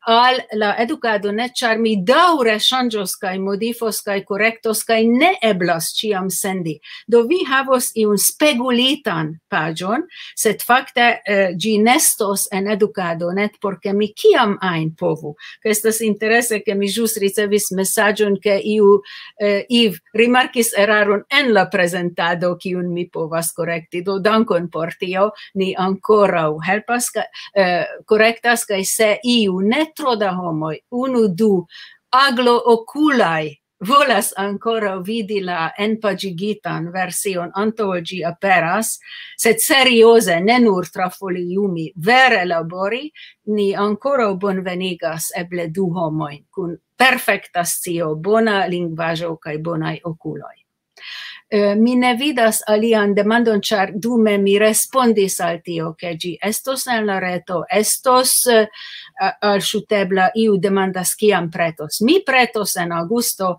al la Edukado net, ĉar mi daŭre ŝanĝos kaj modifos kaj korektos, kaj ne eblas ĉiam sendi. Do vi havos iun spegulitan paĝon, sed fakte eh, ĝi nestos en Edukado net, por ke mi kiam ajn povu. Kaj estas interese, ke mi ĵus ricevis mesaĝon, ke iu eh, Iv rimarkis eraron en la prezentado, kiun mi povas korekti. Do dankon por tio, ni ankoraŭ helpas, ka, eh, korektas, kaj se iu, ne tro da homoj, unu, du, aglo okulaj, volas ankoraŭ vidi la enpaĝigitan version antaŭ ol ĝi aperas, sed serioze, ne nur trafoliumi, vere labori, ni ankoraŭ bonvenigas eble du homojn kun perfekta scio, bona lingvaĵo kaj bonaj okuloj. Eh, mi ne vidas alian demandon, ĉar dume mi respondis al tio, ke ĝi estos en la reto, estos eh, a- alŝutebla. Iu demandas, kiam pretos. Mi pretos en aŭgusto,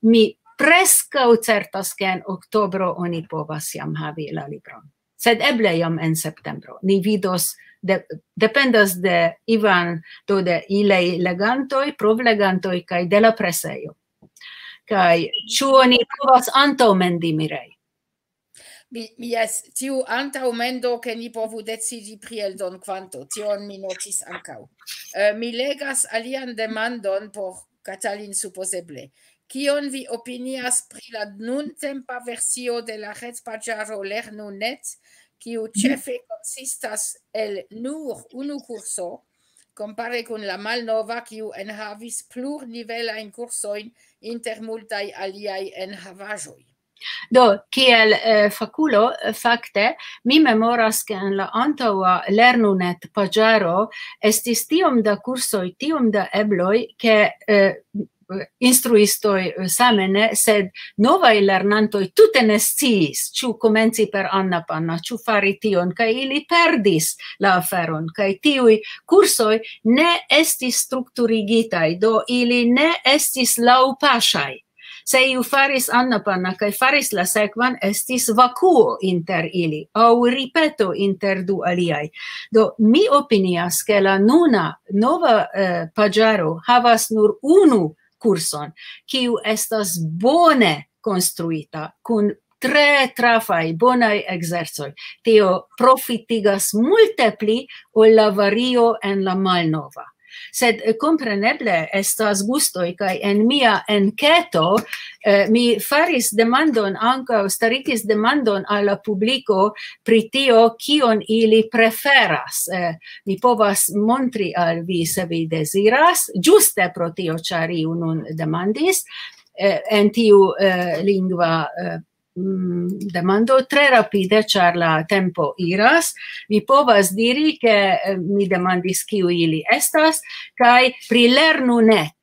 mi preskaŭ certas, ke en oktobro oni povas jam havi la libron. Sed eble jam en septembro. Ni vidos, de, dependas de Ivan, do de Ilei legantoj, provlegantoj kaj de la presejo. Kaj ĉu oni povas antaŭmendi, Mirej? Mi, mi jes, tiu antaŭmendo, ke ni povu decidi pri eldon kvanto, tion mi notis ankaŭ. Eh, mi legas alian demandon por Katalin supozeble. Kion vi opinias pri la nuntempa versio de la retpaĝaro Lernu net, kiu ĉefe konsistas el nur unu kurso, kompare kun la malnova, kiu enhavis plurnivelajn kursojn inter multaj aliaj enhavaĵoj? Do, kiel eh, fakulo, eh, fakte, mi memoras, ke en la antaŭa Lernu net paĝaro estis tiom da kursoj, tiom da ebloj, ke eh, instruistoj eh, same ne, sed novaj lernantoj tute ne sciis, ĉu komenci per Anna Panna, ĉu fari tion, kaj ili perdis la aferon, kaj tiuj kursoj ne estis strukturigitaj, do ili ne estis laŭpaŝaj. Se iu faris anapana kaj faris la sekvan, estis vakuo inter ili, aŭ ripeto inter du aliaj. Do, mi opinias, ke la nuna nova, eh, paĝaro havas nur unu kurson, kiu estas bone konstruita, kun tre trafaj, bonaj ekzercoj. Tio profitigas multe pli ol la vario en la malnova. Sed, eh, kompreneble estas gustoj, kaj en mia enketo, eh, mi faris demandon ankaŭ, starigis demandon al la publiko pri tio, kion ili preferas. Eh, mi povas montri al vi, se vi deziras, ĝuste pro tio, ĉar iu nun demandis, eh, en tiu, eh, lingva, eh, mm, demando tre rapide, ĉar la tempo iras. Mi povas diri, ke, eh, mi demandis, kiu ili estas, kaj pri Lernu Net,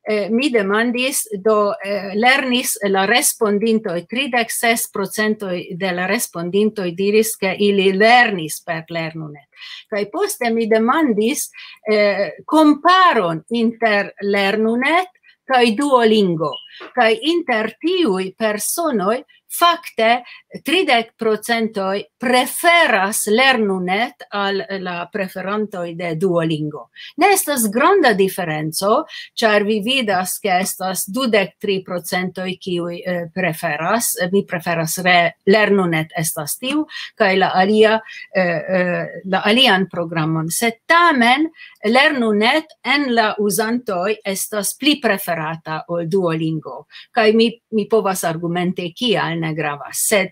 eh, mi demandis, do, eh, lernis la respondintoj, tridek ses procentoj de la respondintoj diris, ke ili lernis per Lernu Net. Kaj poste mi demandis, eh, komparon inter Lernu Net kaj Duolingo. Kaj inter tiuj personoj fakte tridek procentoj preferas Lernu Net al la preferantoj de Duolingo. Ne estas granda diferenco, ĉar vi vidas, ke estas dudek tri procentoj, kiuj, eh, preferas, eh, mi preferas re-, Lernu Net estas tiu, kaj la alia, eh, eh, la alian programon. Sed tamen Lernu Net en la uzantoj estas pli preferata ol Duolingo. Kaj mi, mi povas argumenti, kial ne gravas. Sed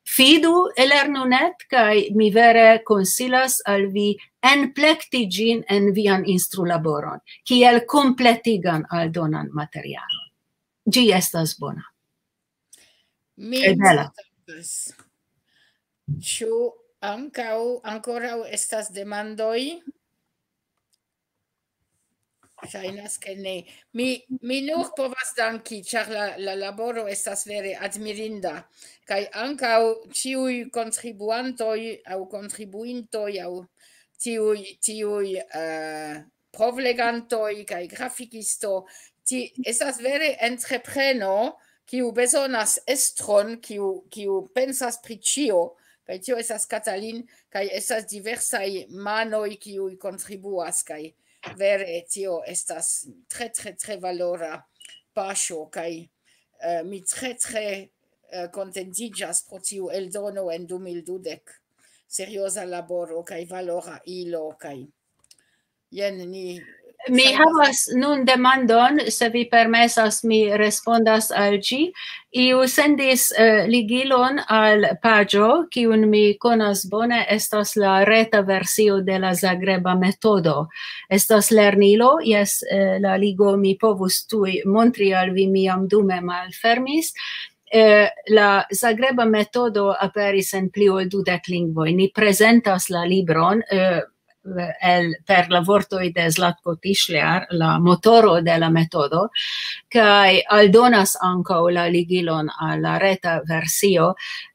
fidu Lernu Net, kaj mi vere konsilas al vi enplekti ĝin en vian instrulaboron, kiel kompletigan aldonan materialon. Ĝi estas bona. Mi Kaj bela. Atendas. Ĉu ankaŭ, ankoraŭ estas demandoj? Ŝajnas, ke ne. Mi, mi nur povas danki, ĉar la, la laboro estas vere admirinda. Kaj ankaŭ ĉiuj kontribuantoj aŭ kontribuintoj aŭ tiuj, tiuj, eh, provlegantoj kaj grafikisto, ti-, estas vere entrepreno, kiu bezonas estron, kiu, kiu pensas pri ĉio, kaj tio estas Katalin, kaj estas diversaj manoj, kiuj kontribuas, kaj vere tio estas tre, tre, tre valora paŝo, kaj, eh, mi tre, tre, eh, kontentiĝas pro tiu eldono en du mil dudek. Serioza laboro kaj valora ilo, kaj jen ni Mi ŝajnas havas nun demandon, se vi permesas, mi respondas al ĝi. Iu sendis, eh, ligilon al paĝo, kiun mi konas bone, estas la reta versio de la Zagreba metodo. Estas lernilo, jes, eh, la ligo mi povus tuj montri al vi, mi jam dume malfermis. Eh, la Zagreba metodo aperis en pli ol dudek lingvoj. Ni prezentas la libron, eh, el, per la vortoj de Zlatko Tišlear, la motoro de la metodo, kaj aldonas ankaŭ la ligilon al la reta versio.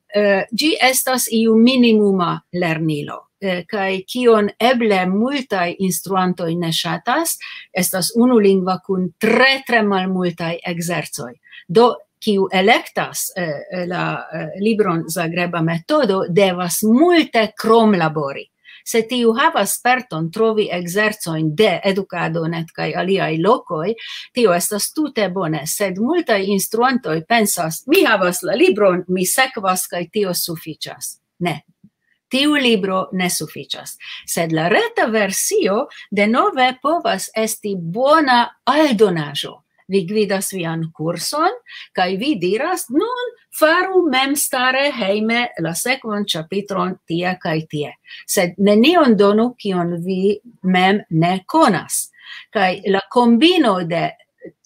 Eh, ĝi estas iu minimuma lernilo, eh, kaj kion eble multaj instruantoj ne ŝatas, estas unulingva kun tre, tre malmultaj ekzercoj. Do, kiu elektas, eh, la, eh, libron Zagreba metodo, devas multe kromlabori. Se tiu havas sperton trovi ekzercojn de Edukado Net kaj aliaj lokoj, tio estas tute bone, sed multaj instruantoj pensas, "Mi havas la libron, mi sekvas kaj tio sufiĉas." Ne. Tiu libro ne sufiĉas. Sed la reta versio denove povas esti bona aldonaĵo. Vi gvidas vian kurson, kaj vi diras, "Nun faru memstare hejme la sekvan ĉapitron tie kaj tie." Sed nenion donu, kion vi mem ne konas. Kaj la kombino de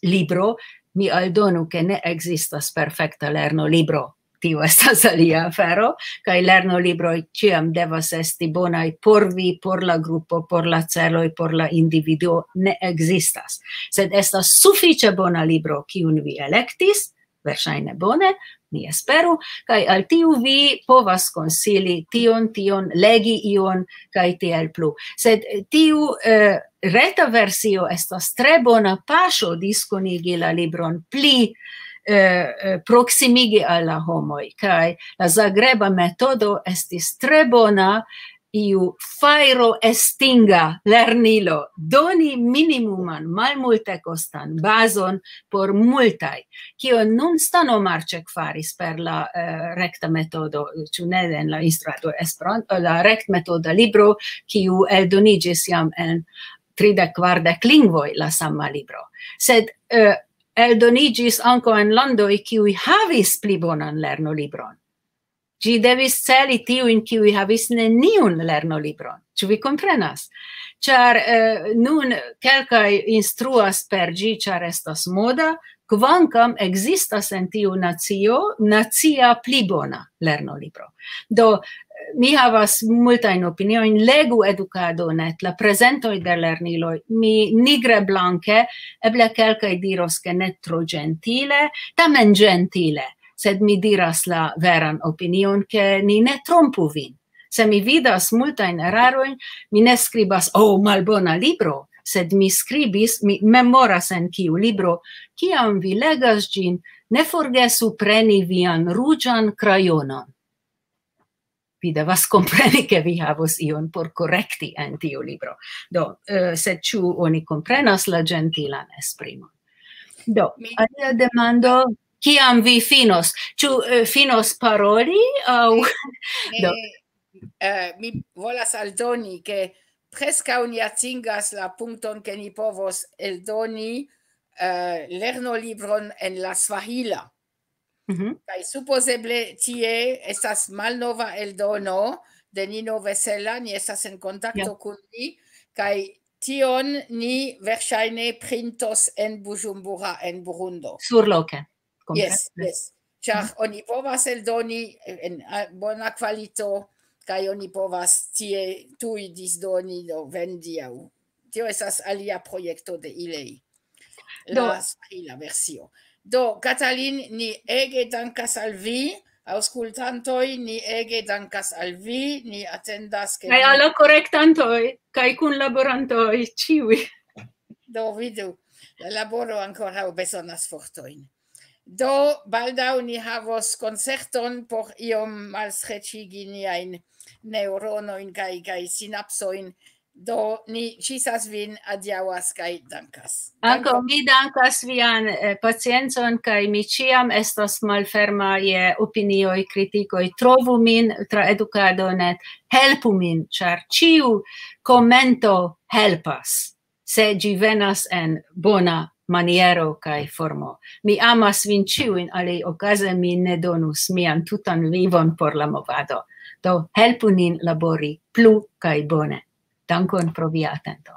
libro, mi aldonu, ke ne ekzistas perfekta lernolibro. Tio estas alia afero, kaj lernolibroj ĉiam devas esti bonaj por vi, por la grupo, por la celoj, por la individuo, ne ekzistas. Sed estas sufiĉe bona libro, kiun vi elektis, verŝajne bone, mi esperu, kaj al tiu vi povas konsili tion, tion, legi ion, kaj tiel plu. Sed, eh, tiu, eh, reta versio estas tre bona paŝo diskonigi la libron pli, eh, eh, proksimigi al la homoj, kaj la Zagreba metodo estis tre bona, iu fajro estinga lernilo, doni minimuman, malmulte kostan bazon por multaj, kio nun Stano Marĉek faris per la, eh, rekta metodo, ĉu ne en la instruado Esperanto, la rektmetoda libro, kiu eldoniĝis jam en tridek, kvardek lingvoj la sama libro. Sed, eh, eldoniĝis ankaŭ en landoj, kiuj havis pli bonan lernolibron. Ĝi devis celi tiujn, kiuj havis neniun lernolibron. Ĉu vi komprenas? Ĉar, eh, nun kelkaj instruas per ĝi, ĉar estas moda, kvankam ekzistas en tiu nacio nacia pli bona lernolibro. Do, eh, mi havas multajn opiniojn, legu Edukado net, la prezentoj de lerniloj, mi nigre blanke, eble kelkaj diros, ke ne tro ĝentile, tamen ĝentile, sed mi diras la veran opinion, ke ni ne trompu vin. Se mi vidas multajn erarojn, mi ne skribas, "Oh, malbona libro", sed mi skribis, mi memoras en kiu libro, "Kiam vi legas ĝin, ne forgesu preni vian ruĝan krajonon." Vi devas kompreni, ke vi havos ion por korekti en tiu libro. Do, eh, sed ĉu oni komprenas la ĝentilan esprimon? Do, Mi- alia demando, kiam vi finos? Ĉu, eh, finos paroli aŭ... Do. Eh, eh, mi volas aldoni, ke preskaŭ ni atingas la punkton, ke ni povos eldoni, eh, lernolibron en la svahila. Mhm. Kaj supozeble tie estas malnova eldono de Nino Vesela, ni estas en kontakto Ja. Kun li, kaj tion ni verŝajne printos en Bujumbura, en Burundo. Surloke. Komprenas? Yes, yes. Ĉar oni povas eldoni en, a, bona kvalito, kaj oni povas tie tuj disdoni, do vendi aŭ. Tio estas alia projekto de ilei. La Do. Svahila versio. Do, Katalin, ni ege dankas al vi, aŭskultantoj, ni ege dankas al vi, ni atendas, ke Kaj vi al la korektantoj, kaj kunlaborantoj, ĉiuj. Do vidu, la laboro ankoraŭ bezonas fortojn. Do, baldaŭ ni havos koncerton por iom malstreĉigi niajn neŭronojn kaj, kaj sinapsojn. Do, ni ĉisas vin, adiaŭas kaj dankas. Ankaŭ mi dankas vian, eh, paciencon, kaj mi ĉiam estas malferma je opinioj, kritikoj. Trovu min tra Edukado net, helpu min, ĉar ĉiu komento helpas, se ĝi venas en bona maniero kaj formo. Mi amas vin ĉiujn, aliaŭ okaze mi ne donus mian tutan vivon por la movado. Do, helpu nin labori plu kaj bone. Dankon pro via atento.